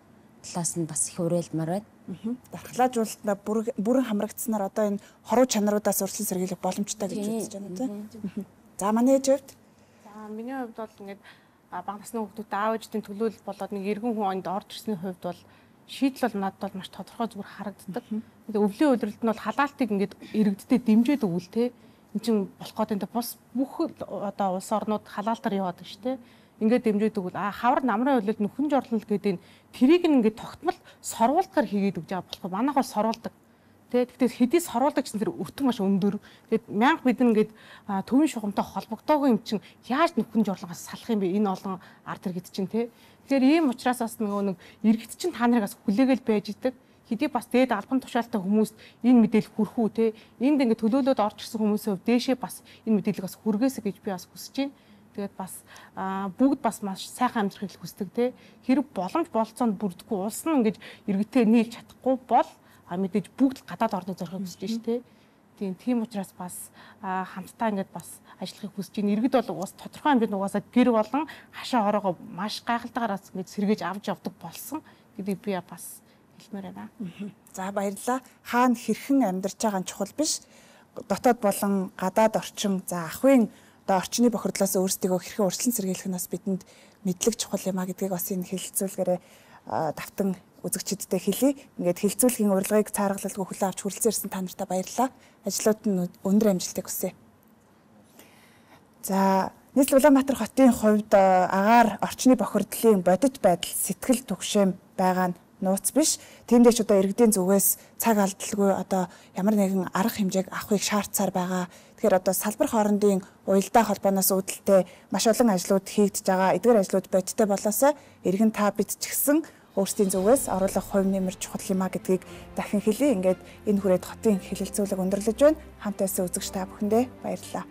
талаас нь бас их уриалмаар байна. Дархлаажуулалтаа бүрэн хамрагдсанаар одоо энэ хоруу чанаруудаас урьдчилан сэргийлэх боломжтой гэж үзэж байна тийм. За манай ээжүүд. За миний хувьд бол ингээд бага насны хүүхдүүд аав ээжийн төлөөлөл болоод нэг эргэн хүн онд орж ирсний хувьд бол шийдэл бол надад бол маш тодорхой зүгээр харагддаг. Өвлийн үйлрэлт нь бол халаалтыг ингээд иргэдтэй дэмжиж өгвөл те эн чинь болох гэдэг бус бүх одоо улс орнууд халаалтаар яваад шүү дээ. Ингээд дэмжиж өгвөл а хавар намрын үйлрэлт нөхөн жорлол гэдэг нь тэрийг ингээд тогтмол сорвуулгаар хийгээд өгж байгаа болох манайх бол сорвуулдаг. Тэгэхдээ хэдий сорвуулдаг гэсэн тэр өртөн маш өндөр. Тэгээд мянга бид нэгээд төвийн шугамтай холбогдоогүй юм чинь яаж нөхөн жорлонгоос салах юм бэ? Энэ олон ард иргэд чинь те. Тэгэхээр ийм учраас бас нөгөө нэг иргэд чинь та нарыг бас хүлээгээл байж идэг. Хэдий бас дээд албан тушаалтай хүмүүст энэ мэдээлэл хүрэх үү те. Энд ингээд төлөөлөд орж ирсэн хүмүүсээ дээшээ бас энэ мэдээллийг бас хүргээсэй гэж би бас хүсэж байна. Тэгээд бас бүгд бас маш сайхан амьдрахыг хүсдэг те. Хэрэг боломж болцоонд бүрдэхгүй улс нь ингээд иргэдтэй нийлж чадахгүй бол а мэдээж бүгд гадаад орныг зорихыг хүсэж шүү дээ. Тийм тийм учраас бас хамтдаа ингээд бас ажиллахыг хүсэж байна. Иргэд бол бас тодорхой хэмжээнд угаасаа гэр болон хашаа ороогоо маш гайхалтайгаар ингээд сэргээж авч явдаг болсон гэдгийг би бас хэлмээр байна. За баярлалаа. Хаана хэрхэн амьдарч байгаа нь чухал биш. Дотоод болон гадаад орчин за ахын одоо орчны бохирдлоос өөрсдийгөө хэрхэн урьдчилан сэргийлэх нь бас бидэнд мэдлэг чухал юм а гэдгийг бас энэ хэлэлцүүлгээрээ давтан үзэгчдэдээ хэлье. Ингээд хэлэлцүүлгийн урилгыг цааргалалгүй хүлээн авч хүрэлцэн ирсэн та нартай баярлалаа. Ажлууд нь өндөр амжилтыг хүсье. За нийслэл Улаанбаатар хотын хувьд агаар орчны бохирдлын бодит байдал сэтгэл түгшэм байгаа нь нууц биш. Тиймдээч одоо иргэдийн зүгээс цаг алдалгүй одоо ямар нэгэн арга хэмжээг авахыг шаардсаар байгаа. Тэгэхээр одоо салбар хоорондын уялдаа холбооноос үүдэлтэй маш олон ажлууд хийгдэж байгаа. Эдгээр ажлууд бодиттой болоосоо иргэн та бид ч гэсэн өөрсдийн зүгээс оруулах хувь нэмэр чухал юм а гэдгийг дахин хэлье. Ингээд энэ хүрээд хотын хэлэлцүүлэг өндөрлөж байна. Хамт байсан үзэгч та бүхэндээ баярлалаа.